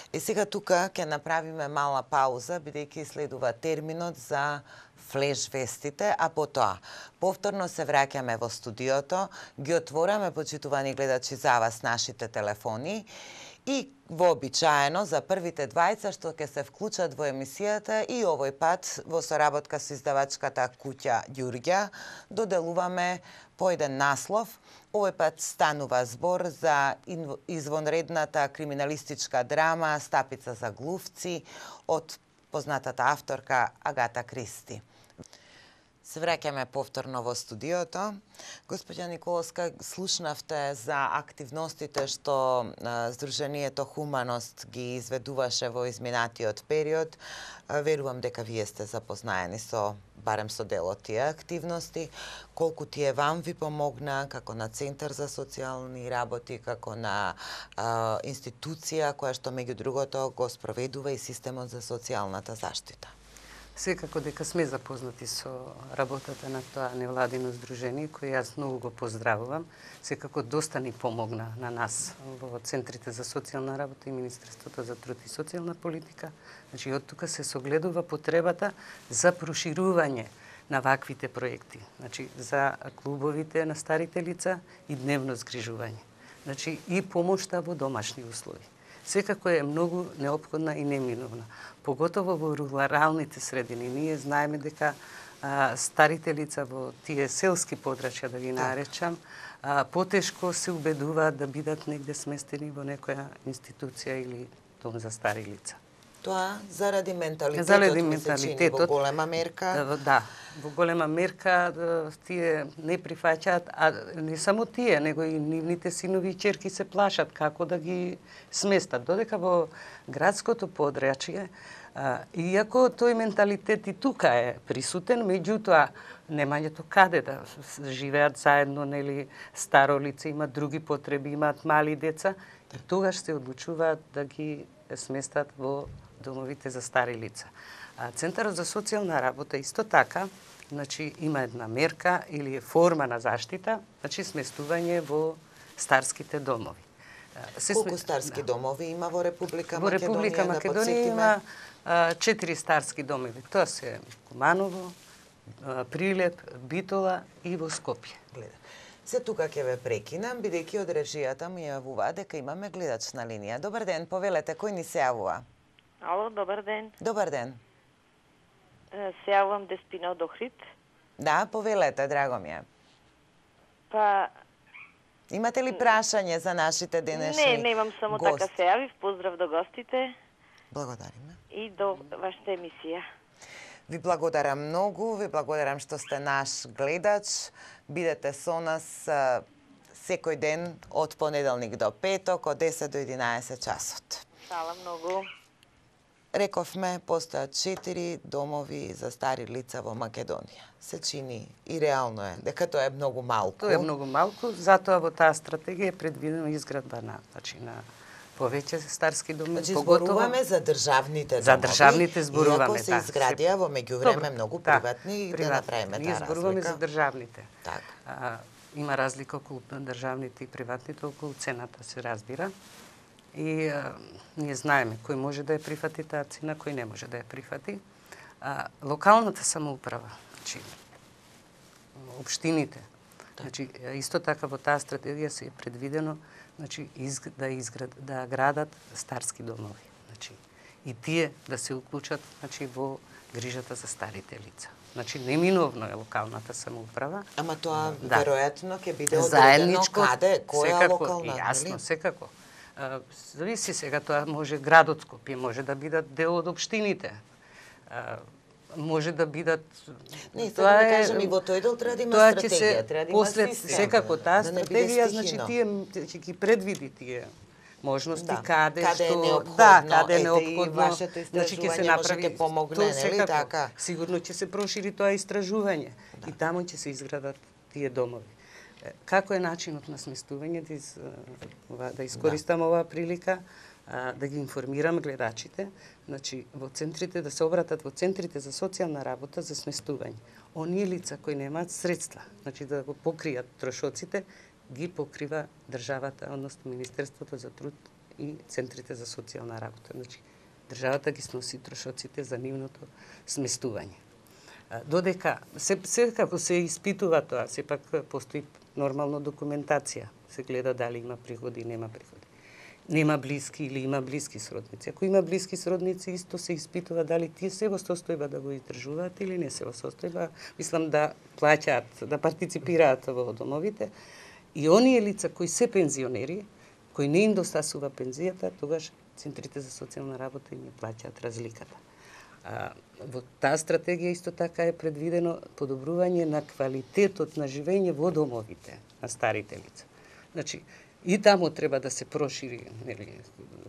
И сега тука ќе направиме мала пауза, бидејќи следува терминот за флеш вестите, а потоа повторно се враќаме во студиото, ги отвораме, почитувани гледачи, за вас нашите телефони и вообичаено за првите двајца што ќе се вклучат во емисијата и овој пат во соработка со издавачката куќа Ѓурѓа доделуваме по еден наслов. Овој пат станува збор за извонредната криминалистичка драма Стапица за глувци од познатата авторка Агата Кристи. Се враќаме повторно во студиото. Господја Николовска, слушнавте за активностите што Сдруженијето Хуманост ги изведуваше во изминатиот период. Верувам дека вие сте запознаени со барем со дел од тие активности. Колку тие вам ви помогна како на Центар за социјални работи, како на а, институција која што меѓу другото го спроведува и системот за социјалната заштита? Секако дека сме запознати со работата на тоа невладино здружение, кој јас многу го поздравувам. Секако доста ни помогна на нас во Центрите за социјална работа и Министерството за труд и социјална политика. Значи, од тука се согледува потребата за проширување на ваквите проекти. Значи, за клубовите на старите лица и дневно згрижување. Значи, и помошта во домашни услови. Секако е многу неопходна и неминовна. Поготово во руралните средини. Ние знаеме дека а, старите лица во тие селски подрачја, да ги наречам, а, потешко се убедуваат да бидат негде сместени во некоја институција или дом за стари лица. Тоа заради менталитетот, заради менталитетот во голема мерка. Да, да, во голема мерка тие не прифаќаат, а не само тие, него и нивните синови и ќерки се плашат како да ги сместат. Додека во градското подрачје, иако тој менталитет и тука е присутен, меѓутоа немањето каде да живеат заедно, нели, старо лице, имат други потреби, имаат мали деца, и тогаш се одлучуваат да ги сместат во домовите за стари лица. А Центарот за социјална работа исто така, значи има една мерка или форма на заштита, значи сместување во старските домови. Се Колку сме... старски домови има во Република во Македонија? Во Република да Македонија има а, четири старски домови. Тоа се Куманово, а, Прилеп, Битола и во Скопје. Гледа. Се тука ќе ве прекинам, бидејќи од режијата ми јавува дека имаме гледач на линија. Добар ден, повелете, кој ни се јавува? Ало, добар ден. Добар ден. Е, Се јавам Деспина од Охрид. Да, повелете, драго ми е. Па, Имате ли прашање за нашите денешни не, немам само гости? така се јавив. Поздрав до гостите Благодариме. и до вашата емисија. Ви благодарам многу, ви благодарам што сте наш гледач. Бидете со нас а, секој ден од понеделник до петок, од десет до единаесет часот. Фала многу. Рековме, постојат четири домови за стари лица во Македонија. Се чини и реално е дека тоа е многу малку. Тоа е многу малку, затоа во таа стратегија е предвидено изградба на, значи на повеќе старски доми, Значи, поготово зборуваме за државните за домови. државните зборуваме, Иако се да. изградија во меѓувреме Добро, многу да, приватни, и да приватни. направиме Ние таа зборуваме разлика. за државните. Така. А, има разлика околу државните и приватните, околу цената се разбира. И а, ние знаеме кој може да ја прифати таа цена, кој не може да ја прифати. А, локалната самоуправа, значи општините, значи исто така во таа стратегија се е предвидено, значи из, да изград да градат старски домови, значи и тие да се уклучат, значи во грижата за старите лица. Значи неминовно е локалната самоуправа. Ама тоа Да. веројатно ќе биде одредено Заедничко, каде, која секако, локална, јасно, нели? секако. А, зависи сега, тоа може градот Скопје, може да бидат дел од општините. А, може да бидат Не, сега да кажем, и во тој дел треба да има тоа ќе стратегија, се треба да има после систем. секако таа Да не биде стратегија, значи стихино. тие ќе ги предвиди тие можности, Да, каде, каде е што неопходно, да, каде е ете, и неопходно, вашето значи ќе се истражување може направи ќе помогне, тоа нели секако. така? Сигурно ќе се прошири тоа истражување и таму ќе се изградат тие домови. Е, Како е начинот на сместување, да, из, ова, да искористам оваа прилика, а, да ги информирам гледачите, значи во центрите да се обратат во центрите за социјална работа за сместување. Оние лица кои немаат средства, значи да го покријат трошоците, ги покрива државата, односно Министерството за труд и центрите за социјална работа. Значи државата ги сноси трошоците за нивното сместување. А, Додека се секако се испитува тоа, сепак постои нормално документација, се гледа дали има приходи, нема приходи. Нема блиски или има блиски сродници. Ако има блиски сродници, исто се испитува дали тие се во состојба да го издржуваат или не се во состојба, мислам да плаќаат, да партиципираат во домовите. И оние лица кои се пензионери, кои не им достасува пензијата, тогаш центрите за социјална работа им ја плаќаат разликата. А, во таа стратегија исто така е предвидено подобрување на квалитетот на живење во домовите на старите лица. Значи, и таму треба да се прошири, нели,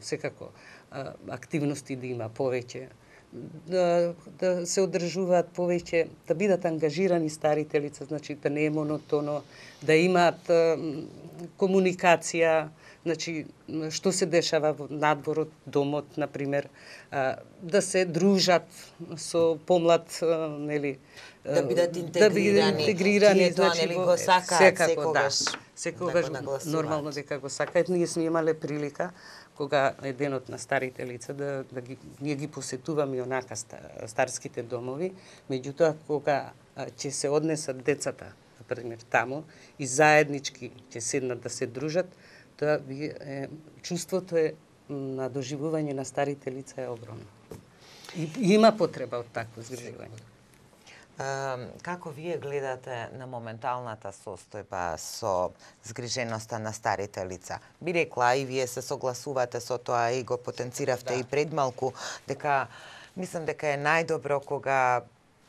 секако а, активности да има повеќе, да, да се одржуваат повеќе, да бидат ангажирани старите лица, значи да не е монотоно, да имаат а, комуникација, значи што се дешава во надвор од домот, на пример, а, да се дружат со помлад, а, нели, Да бидат да интегрирани. бидат интегрирани, Тие тоа, значи нели, во- го сакаат секако, секогаш да, да секогаш го нагласуваат. нормално дека го сакаат. Ние сме имале прилика кога е денот на старите лица да, да ги, ние ги посетуваме и онака старските домови, меѓутоа кога а, ќе се однесат децата, на пример таму, и заеднички ќе седнат да се дружат, тоа би, е, чувството е на доживување на старите лица е огромно. И, и има потреба од такво згрижување. А, како вие гледате на моменталната состојба со згриженоста на старите лица? Би рекла, и вие се согласувате со тоа и го потенциравте Да. и пред малку, дека мислам дека е најдобро кога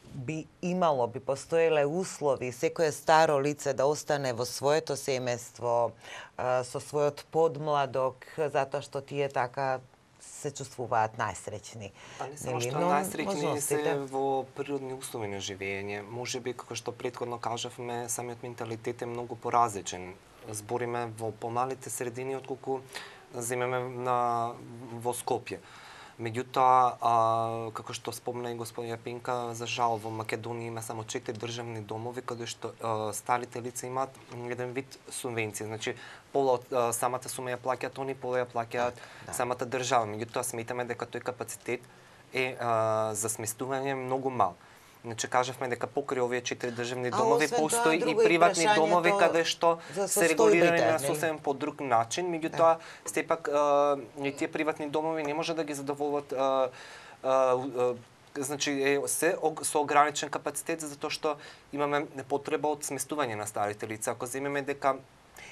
би имало, би постоеле услови секое старо лице да остане во своето семејство, а, со својот подмладок, затоа што тие така се чувствуваат најсреќни. А не само Нели? што Но најсреќни можностите- се во природни услови на живење. Може би, како што претходно кажавме, самиот менталитет е многу поразличен. Збориме во помалите средини отколку земеме на во Скопје. Меѓутоа, а, како што спомна и господин Јапинка, за жал во Македонија има само четири државни домови каде што а, старите лица имаат еден вид субвенција. Значи, пола од а, самата сума ја плаќаат они, пола ја плаќаат да. самата држава. Меѓутоа, сметаме дека тој капацитет е а, за сместување многу мал. Значи кажавме дека покрај овие четири државни А домови освен тоа, постои и друго и приватни прашањето домови каде што за се регулирани состојбите, на нели? сосем по друг начин, меѓутоа сепак а, и тие приватни домови не може да ги задоволат а, а, а, значи е се ог, со ограничен капацитет затоа што имаме потреба од сместување на старите лица. Ако земеме дека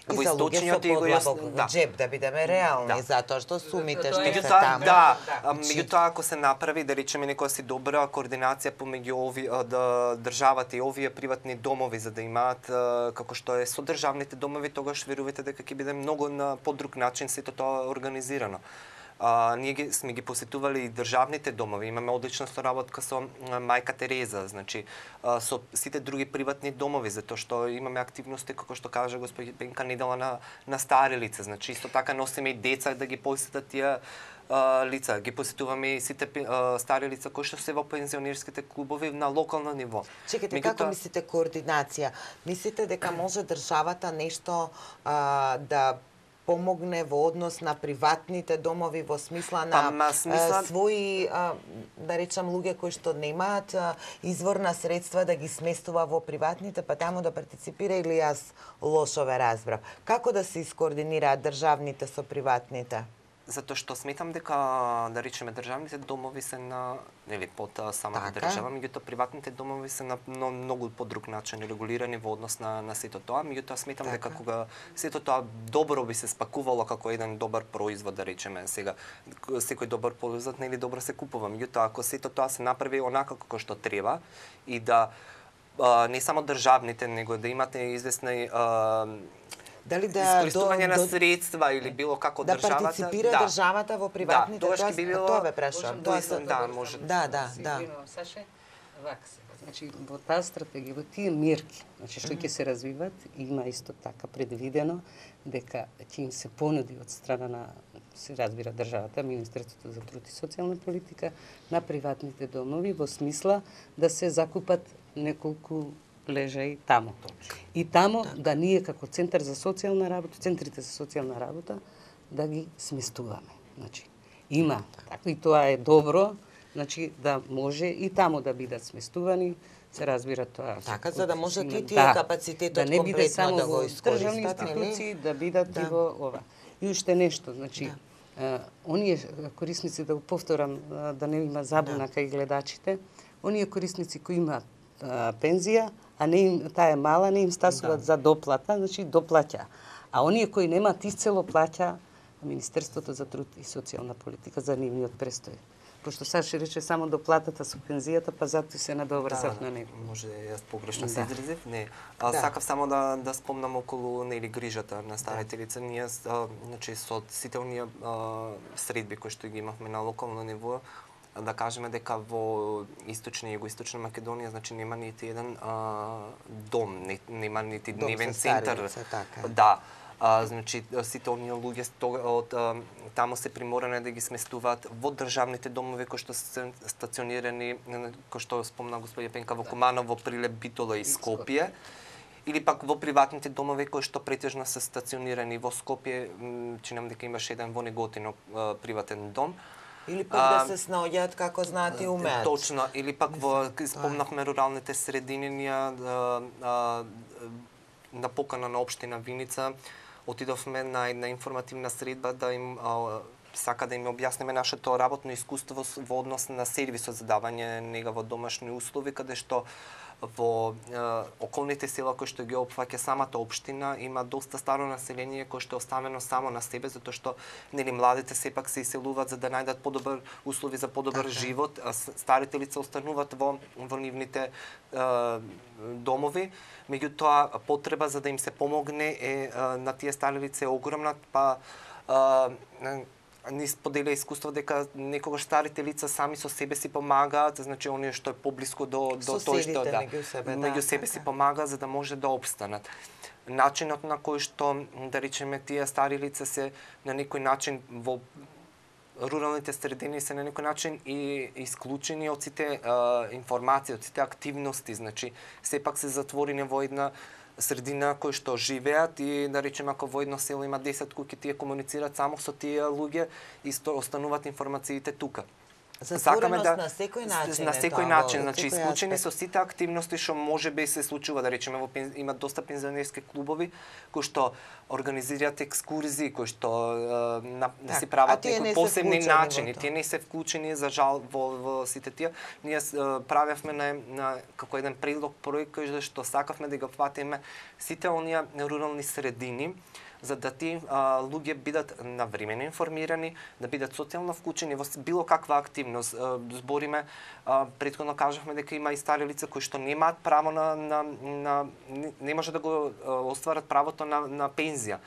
И во за луѓе со источниот и го подлабок јас- во джеб, да бидеме реални, Да. затоа што сумите што се Меѓутоа, таму. да, Значи, а, меѓутоа ако се направи, да речеме некоја си добра координација помеѓу ови а, да, државата и овие приватни домови за да имаат а, како што е со државните домови, тогаш верувате дека ќе биде многу на подруг начин сето тоа организирано. А, ние ги, сме ги посетували и државните домови, имаме одлична соработка со а, Мајка Тереза, значи а, со сите други приватни домови, затоа што имаме активности како што кажа господи Пенка недела на на стари лица, значи исто така носиме и деца да ги посетат тие а, лица, ги посетуваме и сите а, стари лица кои што се во пензионерските клубови на локално ниво. Чекайте, како мислите координација? Мислите дека може државата нешто а, да помогне во однос на приватните домови во смисла на Па, ма, смисла... а, своји, а, да речам, луѓе кои што немаат а, изворна средства да ги сместува во приватните, па таму да партиципира, или јас лошо ве разбрав? Како да се искоординираат државните со приватните? Затоа што сметам дека, да речеме, државните домови се на, нели, под а, самата Така. држава, меѓутоа приватните домови се на но, многу по друг начин регулирани во однос на, на сето тоа, меѓутоа сметам Така. дека кога сето тоа добро би се спакувало како еден добар производ, да речеме, сега секој добар производ нели добро се купува, меѓутоа ако сето тоа се направи онака како што треба и да а, не само државните, него да имате известни а, Дали да искористување до- на до- средства или било како да државата, партиципира да. државата во приватните, Да, тогаш тоа, ќе би било- тоа ве прашувам. Можам Тоа да се... да, може. Да, да, Се да. извинувам, Саше, вака се. Значи, во таа стратегија, во тие мерки, значи што ќе се развиват, има исто така предвидено дека ќе им се понуди од страна на, се разбира, државата, Министерството за труд и социјална политика, на приватните домови во смисла да се закупат неколку лежаи таму. И таму да ние како центар за социјална работа, центрите за социјална работа, да ги сместуваме. Значи, има така и тоа е добро, значи да може и таму да бидат сместувани, се разбира тоа. Така, за да можат и има- тие капацитетот да не биде комплетно само да го во искористат, државни нели? институции, да бидат Да. и во ова. И уште нешто, значи, а, оние корисници, да го повторам, а, да не има забуна кај гледачите, оние корисници кои имаат а, пензија, а не им, таа е мала, не им стасуваат за доплата, значи доплаќа. А оние кои немаат исцело плаќа Министерството за труд и социјална политика за нивниот престој. Пошто Саши рече само доплатата со пензијата, па затоа се надоврзав на него. Може јас погрешно се Да. изразив, не. А Да. сакав само да да спомнам околу нели грижата на старите лица. Ние а, значи со сите оние а, средби кои што ги имавме на локално ниво, а, да кажеме дека во источна и југоисточна Македонија значи нема нити еден а, дом, не, нема нити Дом дневен за стари центар. лица, така. Да. А, значи сите оние луѓе стога- од а, таму се приморани да ги сместуваат во државните домови кои што се стационирани, кои што спомна господја Пенка во Куманово, Прилеп, Битола и Скопје, или пак во приватните домови кои што претежно се стационирани во Скопје, м, чинам дека имаше еден во Неготино а, приватен дом. Или пак А, да се снаоѓаат како знаат и умеат. Точно, или пак во спомнавме руралните средини, ние а, а, на покана на општина Виница отидовме на една информативна средба да им а, сака да им објасниме нашето работно искуство с- во однос на сервисот за давање нега во домашни услови, каде што во е, околните села кои што ги опфаќа самата општина има доста старо население кое што е оставено само на себе, затоа што нели младите сепак се иселуваат за да најдат подобар услови за подобар Така. живот, а с- старите лица остануваат во во нивните е, домови. Меѓутоа потреба за да им се помогне е, е на тие стари лица е огромна, па е, ни споделя искуство дека некогаш старите лица сами со себе си помагаат, значи оние што е поблиску до до тој што Соседите да меѓу себе, да, меѓу себе си така. помага за да може да опстанат. Начинот на кој што да речеме тие стари лица се на некој начин во руралните средини се на некој начин и исклучени од сите а, информации, од сите активности, значи сепак се затворени во една средина кои што живеат и да речеме ако во едно село има десет куќи, тие комуницираат само со тие луѓе и сто, остануваат информациите тука. Затвореност на секој начин. На е секој тоа, начин, во значи секој исклучени аспект. со сите активности што можеби се случува, да речеме во пен... има доста пензионерски клубови кои што организираат екскурзии, кои што е, на, Так, си прават а тие не некои се посебни вклучени во начини. тоа. Тие не се вклучени за жал во, во сите тие. Ние е, правевме на, на како еден предлог проект кој што сакавме да го фатиме сите оние рурални средини, за да ти а, луѓе бидат навремено информирани, да бидат социјално вклучени во било каква активност. А, збориме, а, претходно кажавме дека има и стари лица кои што немаат право на, на, на не, не може да го а, остварат правото на, на пензија.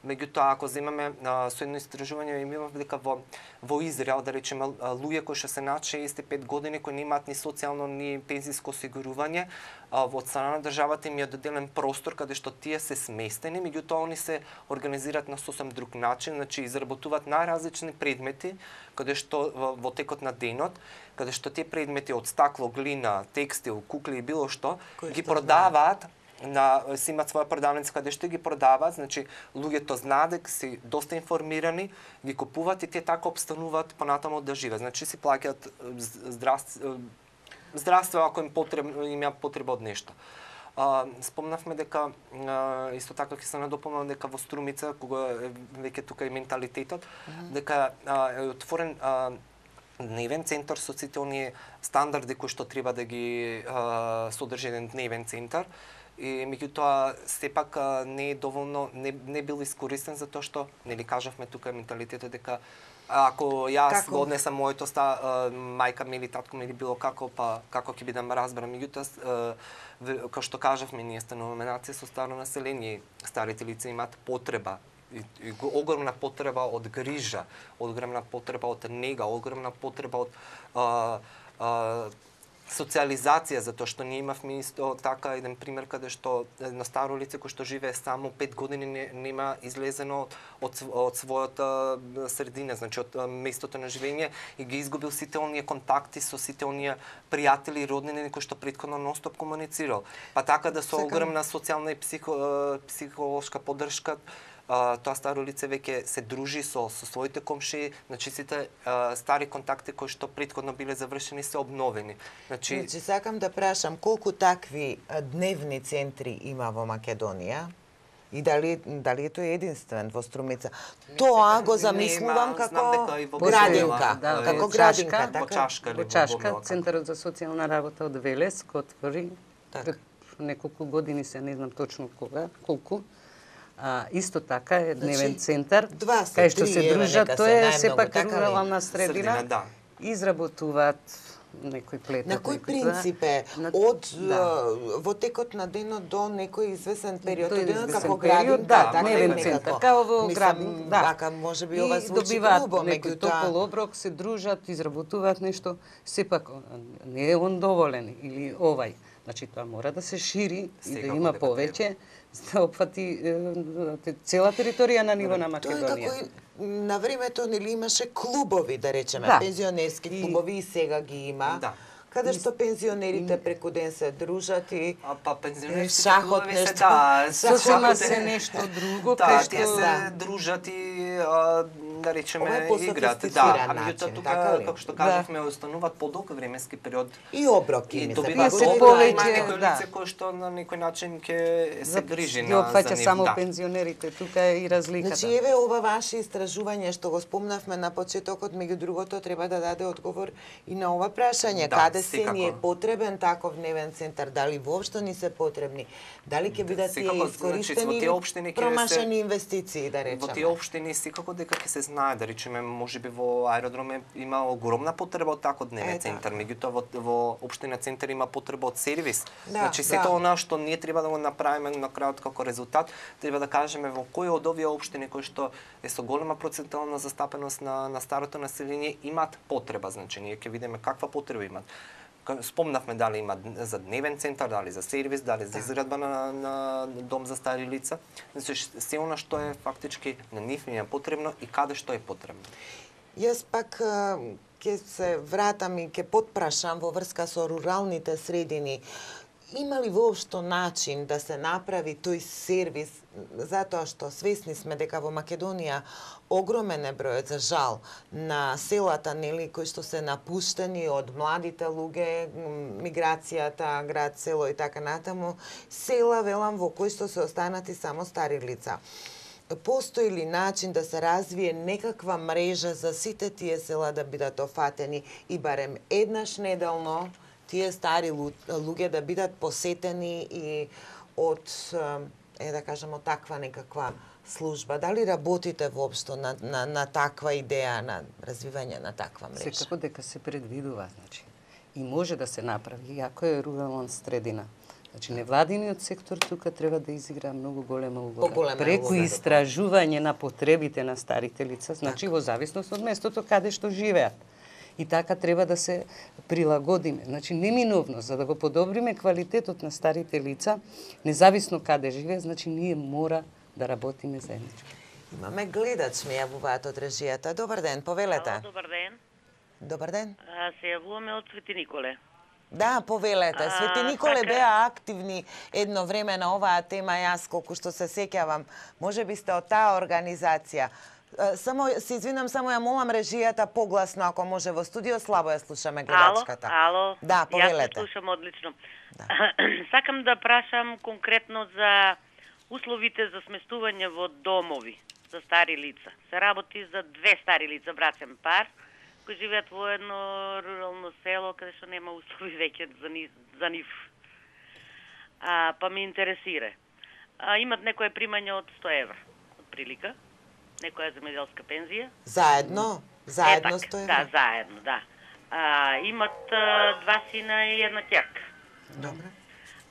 Меѓутоа, ако земеме а, со едно истражување, имаме дека во, во Израел, да речеме, луѓе кои што се над шеесет и пет години, кои немаат ни социјално, ни пензиско осигурување, а, во страна на државата им е доделен простор каде што тие се сместени, меѓутоа они се организираат на сосем друг начин, значи изработуваат најразлични предмети, каде што во, во текот на денот, каде што тие предмети од стакло, глина, текстил, кукли и било што, Кои ги што продаваат на си имаат своја продавница каде што ги продаваат, значи луѓето знаат дека си доста информирани, ги купуваат и тие така обстануваат понатаму да живеат. Значи си плаќаат здравство, здравство ако им потребно, им ја потреба од нешто. А, спомнавме дека а, исто така ќе се надополнам дека во Струмица, кога е веќе тука и менталитетот, mm-hmm. дека а, е отворен а, дневен центар со сите оние стандарди кои што треба да ги а, содржи еден дневен центар. И меѓутоа сепак а, не е доволно, не, не бил искористен затоа што нели кажавме тука менталитетот дека ако јас Како? го однесам моето ста а, мајка ми или татко ми или било како, па како ќе бидам разбран. Меѓутоа како што кажавме, ние стануваме нација со старо население, старите лица имаат потреба и, и огромна потреба од грижа, огромна потреба од нега, огромна потреба од а, а, социализација, затоа што ние имавме исто така еден пример каде што на старо лице кој што живее само пет години не, нема излезено од, од својата средина, значи од местото на живење и ги изгубил сите оние контакти со сите оние пријатели и роднини кои што претходно нонстоп комуницирал. Па така да со Сакам- огромна социјална и психо, психолошка поддршка Uh, тоа старо лице веќе се дружи со, со своите комшии, значи сите uh, стари контакти кои што претходно биле завршени се обновени. Значи, Значи, сакам да прашам колку такви а, дневни центри има во Македонија? И дали, дали е тој единствен во Струмица? Тоа го замислувам Нема, знам дека и како во градинка. Да, Бобила, како во градинка, Чашка, во така? Чашка или Во во Чашка, Бобила, како? Центарот за социјална работа од Велес го отвори Така. пред неколку години, се не знам точно кога, колку. А, исто така е дневен Значи, центар, два се, кај што три, се еве, дружат, нека тоа се е најмногу, сепак така ли? рурална средина, Средина, да. изработуваат некој плетат. На кој некој принцип е? На- Од да. а, во текот на денот до некој извесен период До од денот извесен како период, градинка, да, така дневен некако. центар, као во Мислам, градинка, да. Вака можеби ова И звучи добиваат грубо, некој топол меѓутоа оброк, се дружат, изработуваат нешто, сепак не е он доволен или овај. Значи тоа мора да се шири и да Секако има дека повеќе, за да опфати е, цела територија на ниво на Тоа е Македонија. како и на времето нели имаше клубови, да речеме, Да. пензионерски И- клубови и сега ги има. Да. Каде што пензионерите преку ден се дружат и А па пензионерските шахот клубови се нешто. да, Сосема шахот се е- нешто друго, Да, кај тие што... се дружат и а, да Ова речеме е играт. по-софистициран Да, а начин, меѓутоа тука така ли? како што Да. кажавме остануваат подолг временски период и оброки и ми се добиваат Тие се погоди, оброки, повеќе, има некој да. лице кој што на некој начин ќе се грижи ги на опфаќа за нив, само да. пензионерите, тука е и разликата. Значи, еве ова ваше истражување што го спомнавме на почетокот, меѓу другото треба да даде одговор и на ова прашање. Да, Каде се секако. ни е потребен таков дневен центар? Дали воопшто ни се потребни? Дали ќе бидат тие Секако, значи, искористени во тие или општини ќе промашени се- инвестиции, да Во речеме? тие општини секако дека ќе се знае, да речеме, можеби во аеродроме има огромна потреба од таков дневен Е, центар, така. меѓутоа во, во општина центар има потреба од сервис. Да, значи сето да. она што ние треба да го направиме на крајот како резултат, треба да кажеме во кои од овие општини кои што е со голема процентуална застапеност на на старото население имаат потреба, значи ние ќе видиме каква потреба имаат. Ка- Спомнавме дали има за дневен центар, дали за сервис, дали за изградба на, на дом за стари лица. Значи, се она што е фактички на нив им е потребно и каде што е потребно. Јас пак а, ќе се вратам и ќе потпрашам во врска со руралните средини. има ли воопшто начин да се направи тој сервис, затоа што свесни сме дека во Македонија огромен е бројот, за жал, на селата, нели, кои што се напуштени од младите луѓе, миграцијата, град, село и така натаму, села, велам, во кои што се останати само стари лица. Постои ли начин да се развие некаква мрежа за сите тие села да бидат офатени и барем еднаш неделно тие стари луѓе да бидат посетени и од, е да кажем, од таква некаква служба? Дали работите воопшто на, на, на таква идеја, на развивање на таква мрежа? Секако дека се предвидува, значи. И може да се направи, иако е рурална средина. Значи, невладиниот сектор тука треба да изигра многу голема улога. Преку истражување на потребите на старите лица, значи во зависност од местото каде што живеат. И така треба да се прилагодиме. Значи, неминовно, за да го подобриме квалитетот на старите лица, независно каде живее, значи ние мора да работиме заеднички. Имаме гледач, ми јавуваат од режијата. Добар ден, повелете. Ало, добар ден. Добар ден. А, се јавуваме од Свети Николе. Да, повелете. Свети Николе така... беа активни едно време на оваа тема, јас колку што се сеќавам. Може би сте од таа организација. Само се извинам, само ја молам режијата погласно, ако може, во студио, слабо ја слушаме гледачката. Ало, ало. Да, повелете. Јас слушам одлично. Да. Сакам да прашам конкретно за условите за сместување во домови за стари лица. Се работи за две стари лица, братен пар, кои живеат во едно рурално село, каде што нема услови веќе за, ни, за нив. А, па ме интересира. А, имат некое примање од сто евра, од прилика. Некоја земјоделска пензија. Заедно? Заедно е, так, сто евра? Да, заедно, да. А, имат а, два сина и една ќерка. Добре.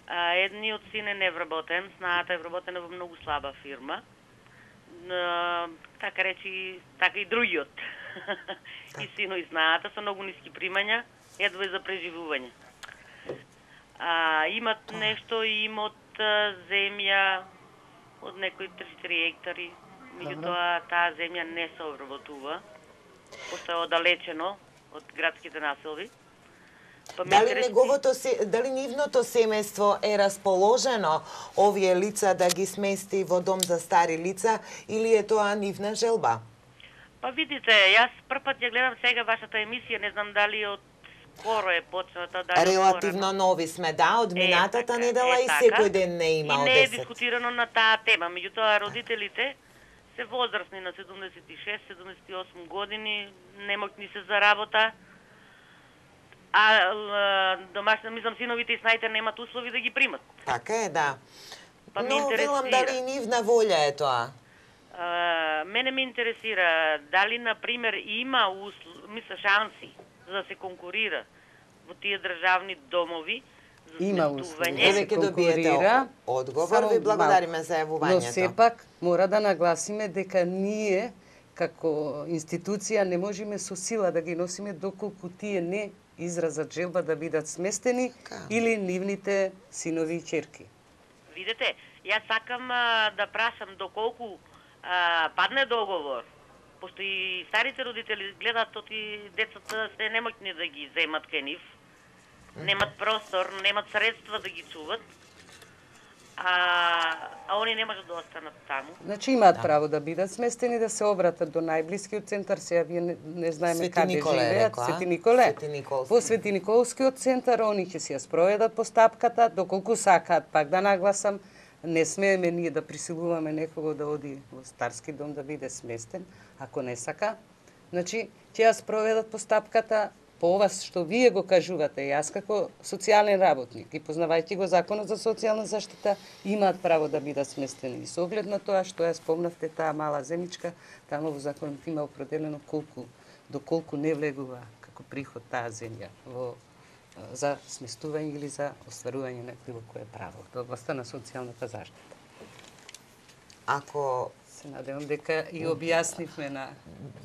А, едниот син е невработен, знаата е вработена во многу слаба фирма. А, така речи, така и другиот. И сино и знаата со многу ниски примања, едва за преживување. А, имат нешто и имот а, земја од некои три-четири хектари. Меѓутоа, таа земја не се обработува, пошто е оддалечено од градските населби. Па дали интерес... неговото се, дали нивното семејство е расположено овие лица да ги смести во дом за стари лица или е тоа нивна желба? Па видите, јас првпат ја гледам сега вашата емисија, не знам дали од скоро е почната, дали релативно скоро... нови сме, да, од минатата е, така, недела е, и така. секој ден не има и од не е десет. дискутирано на таа тема, меѓутоа родителите се возрастни на седумдесет и шест седумдесет и осум години, немокни се за работа, а домашни, мислам, синовите и снаите немат услови да ги примат. Така е, да. Па Но велам дали и нивна волја е тоа. А, мене ме интересира дали, например, има услов, мисля, шанси за да се конкурира во тие државни домови за Има сместување. Еве ќе добиете одговор, ви благодариме за јавувањето. Но сепак мора да нагласиме дека ние како институција не можеме со сила да ги носиме доколку тие не изразат желба да бидат сместени Ка? или нивните синови и ќерки. Видете, јас сакам а, да прашам доколку а, падне договор, пошто и старите родители гледаат тоти децата се немоќни да ги земат кај нив, немат простор, немат средства да ги чуват, а, а они не можат да останат таму. Значи имаат да. право да бидат сместени, да се обратат до најблискиот центар, сега вие не, не знаеме Свети каде Николе, живеат, рекла, Свети Николе. Свети Николски. Во Свети Николскиот центар они ќе си ја спроведат постапката, доколку сакаат, пак да нагласам, не смееме ние да присилуваме некого да оди во старски дом да биде сместен, ако не сака. Значи, ќе ја спроведат постапката по ова што вие го кажувате. Јас како социјален работник и познавајќи го Законот за социјална заштита, имаат право да бидат сместени. И со оглед на тоа што ја спомнавте таа мала земјичка, таму во Законот има определено колку, доколку не влегува како приход таа земја во за сместување или за остварување на било кое право во областта на социјалната заштита. Ако се надевам дека и објаснивме на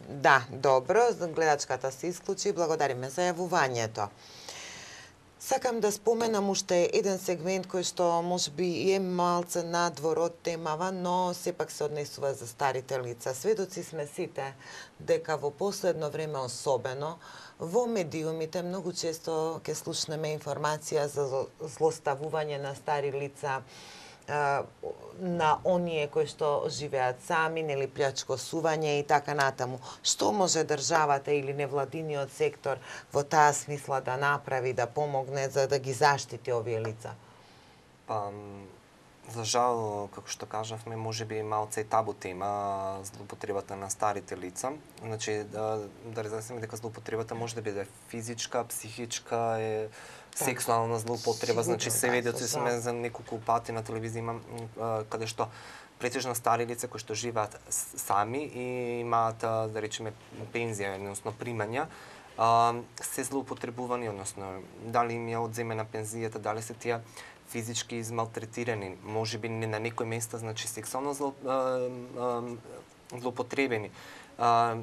Да, добро, гледачката се исклучи, благодариме за јавувањето. Сакам да споменам уште еден сегмент кој што можеби е малце надвор од темава, но сепак се однесува за старите лица. Сведоци сме сите дека во последно време особено Во медиумите многу често ќе слушнеме информација за злоставување на стари лица, на оние кои што живеат сами, нели плячкосување и така натаму. Што може државата или невладиниот сектор во таа смисла да направи, да помогне за да ги заштити овие лица? Па, за жал, како што кажавме, можеби малце табу тема злоупотребата на старите лица. Значи, да, да разјасниме дека злоупотребата може да биде физичка, психичка, е, сексуална злоупотреба. Значи, се ведоци сме за неколку пати на телевизија имам каде што претежно стари лица кои што живеат сами и имаат, да речеме, пензија, односно примања, се злоупотребувани, односно дали им ја одземена пензијата, дали се тие физички измалтретирани, можеби не на некој места, значи сексуално зло, а, а, злоупотребени. А,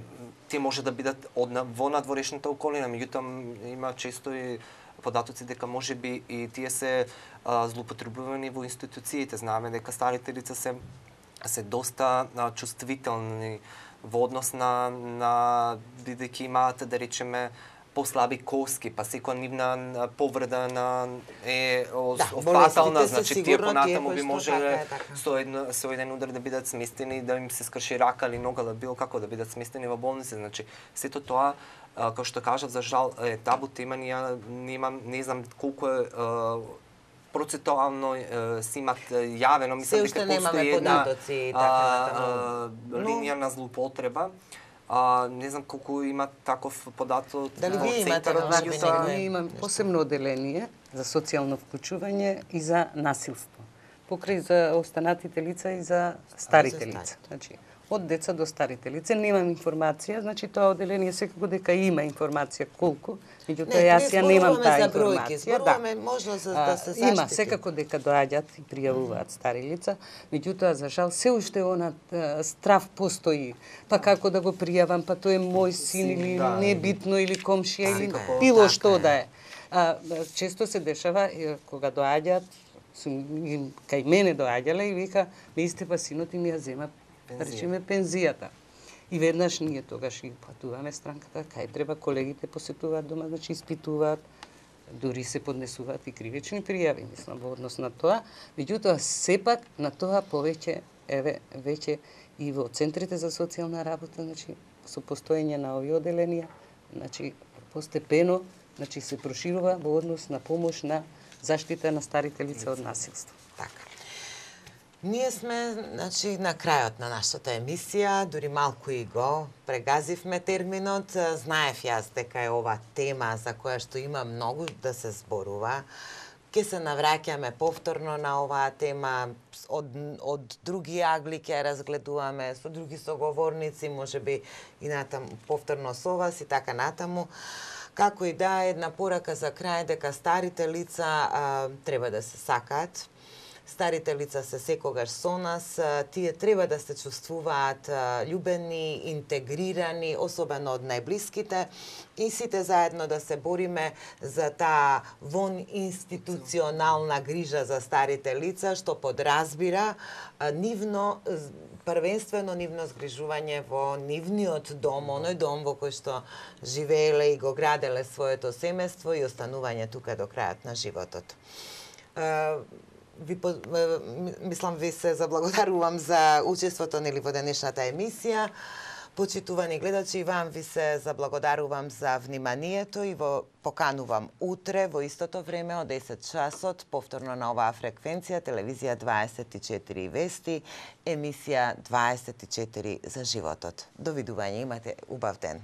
тие може да бидат од во надворешната околина, меѓутоа има често и податоци дека можеби и тие се а, злоупотребувани во институциите. Знаеме дека старите лица се се доста а, чувствителни во однос на на бидејќи имаат, да речеме, послаби коски, па секоја нивна повреда на е да, фатална, значи тие понатаму би можеле со едно со еден удар да бидат сместени, да им се скрши рака или нога, да било како да бидат сместени во болница. Значи сето тоа, како што кажав, за жал е табу тема, ние немам, не знам колку е процентуално си имат јавено, мислам дека постои една линија на злоупотреба. А, не знам колку има таков податок. Дали вие имате вакви? Ние имаме посебно оделение за социјално вклучување и за насилство. Покрај за останатите лица и за старите лица. Значи, од деца до старите лица немам информација, значи тоа оделение секако дека има информација колку, меѓутоа јас ја немам таа информација. Зборуваме можно за да се заштити. Има секако дека доаѓаат и пријавуваат стари лица, меѓутоа за жал се уште она страв постои. Па како да го пријавам, па тој е мој син или небитно или комшија или било што да е. А, често се дешава кога доаѓаат, кај мене доаѓале и вика, не сте па синот и ми ја зема, да речеме, пензијата. И веднаш ние тогаш ги патуваме странката, кај треба, колегите посетуваат дома, значи испитуваат, дури се поднесуваат и кривични пријави, мислам, во однос на тоа. Меѓутоа, сепак на тоа повеќе, еве, веќе и во центрите за социјална работа, значи, со постоење на овие оделенија, значи, постепено, значи, се проширува во однос на помош на заштита на старите лица од насилство. Така. Ние сме, значи, на крајот на нашата емисија, дури малку и го прегазивме терминот. Знаев јас дека е ова тема за која што има многу да се зборува. Ке се навраќаме повторно на оваа тема, од, од други агли ќе разгледуваме, со други соговорници, можеби и натаму повторно со вас и така натаму. Како и да, една порака за крај дека старите лица а, треба да се сакаат. Старите лица се секогаш со нас, тие треба да се чувствуваат љубени, интегрирани, особено од најблиските, и сите заедно да се бориме за таа вон институционална грижа за старите лица, што подразбира нивно, првенствено нивно згрижување во нивниот дом, оној дом во кој што живееле и го граделе своето семејство и останување тука до крајот на животот. Ви, мислам, ви се заблагодарувам за учеството нели во денешната емисија. Почитувани гледачи, и вам ви се заблагодарувам за вниманието и во поканувам утре во истото време од десет часот, повторно на оваа фреквенција, телевизија дваесет и четири вести, емисија дваесет и четири за животот. Довидување, имате убав ден.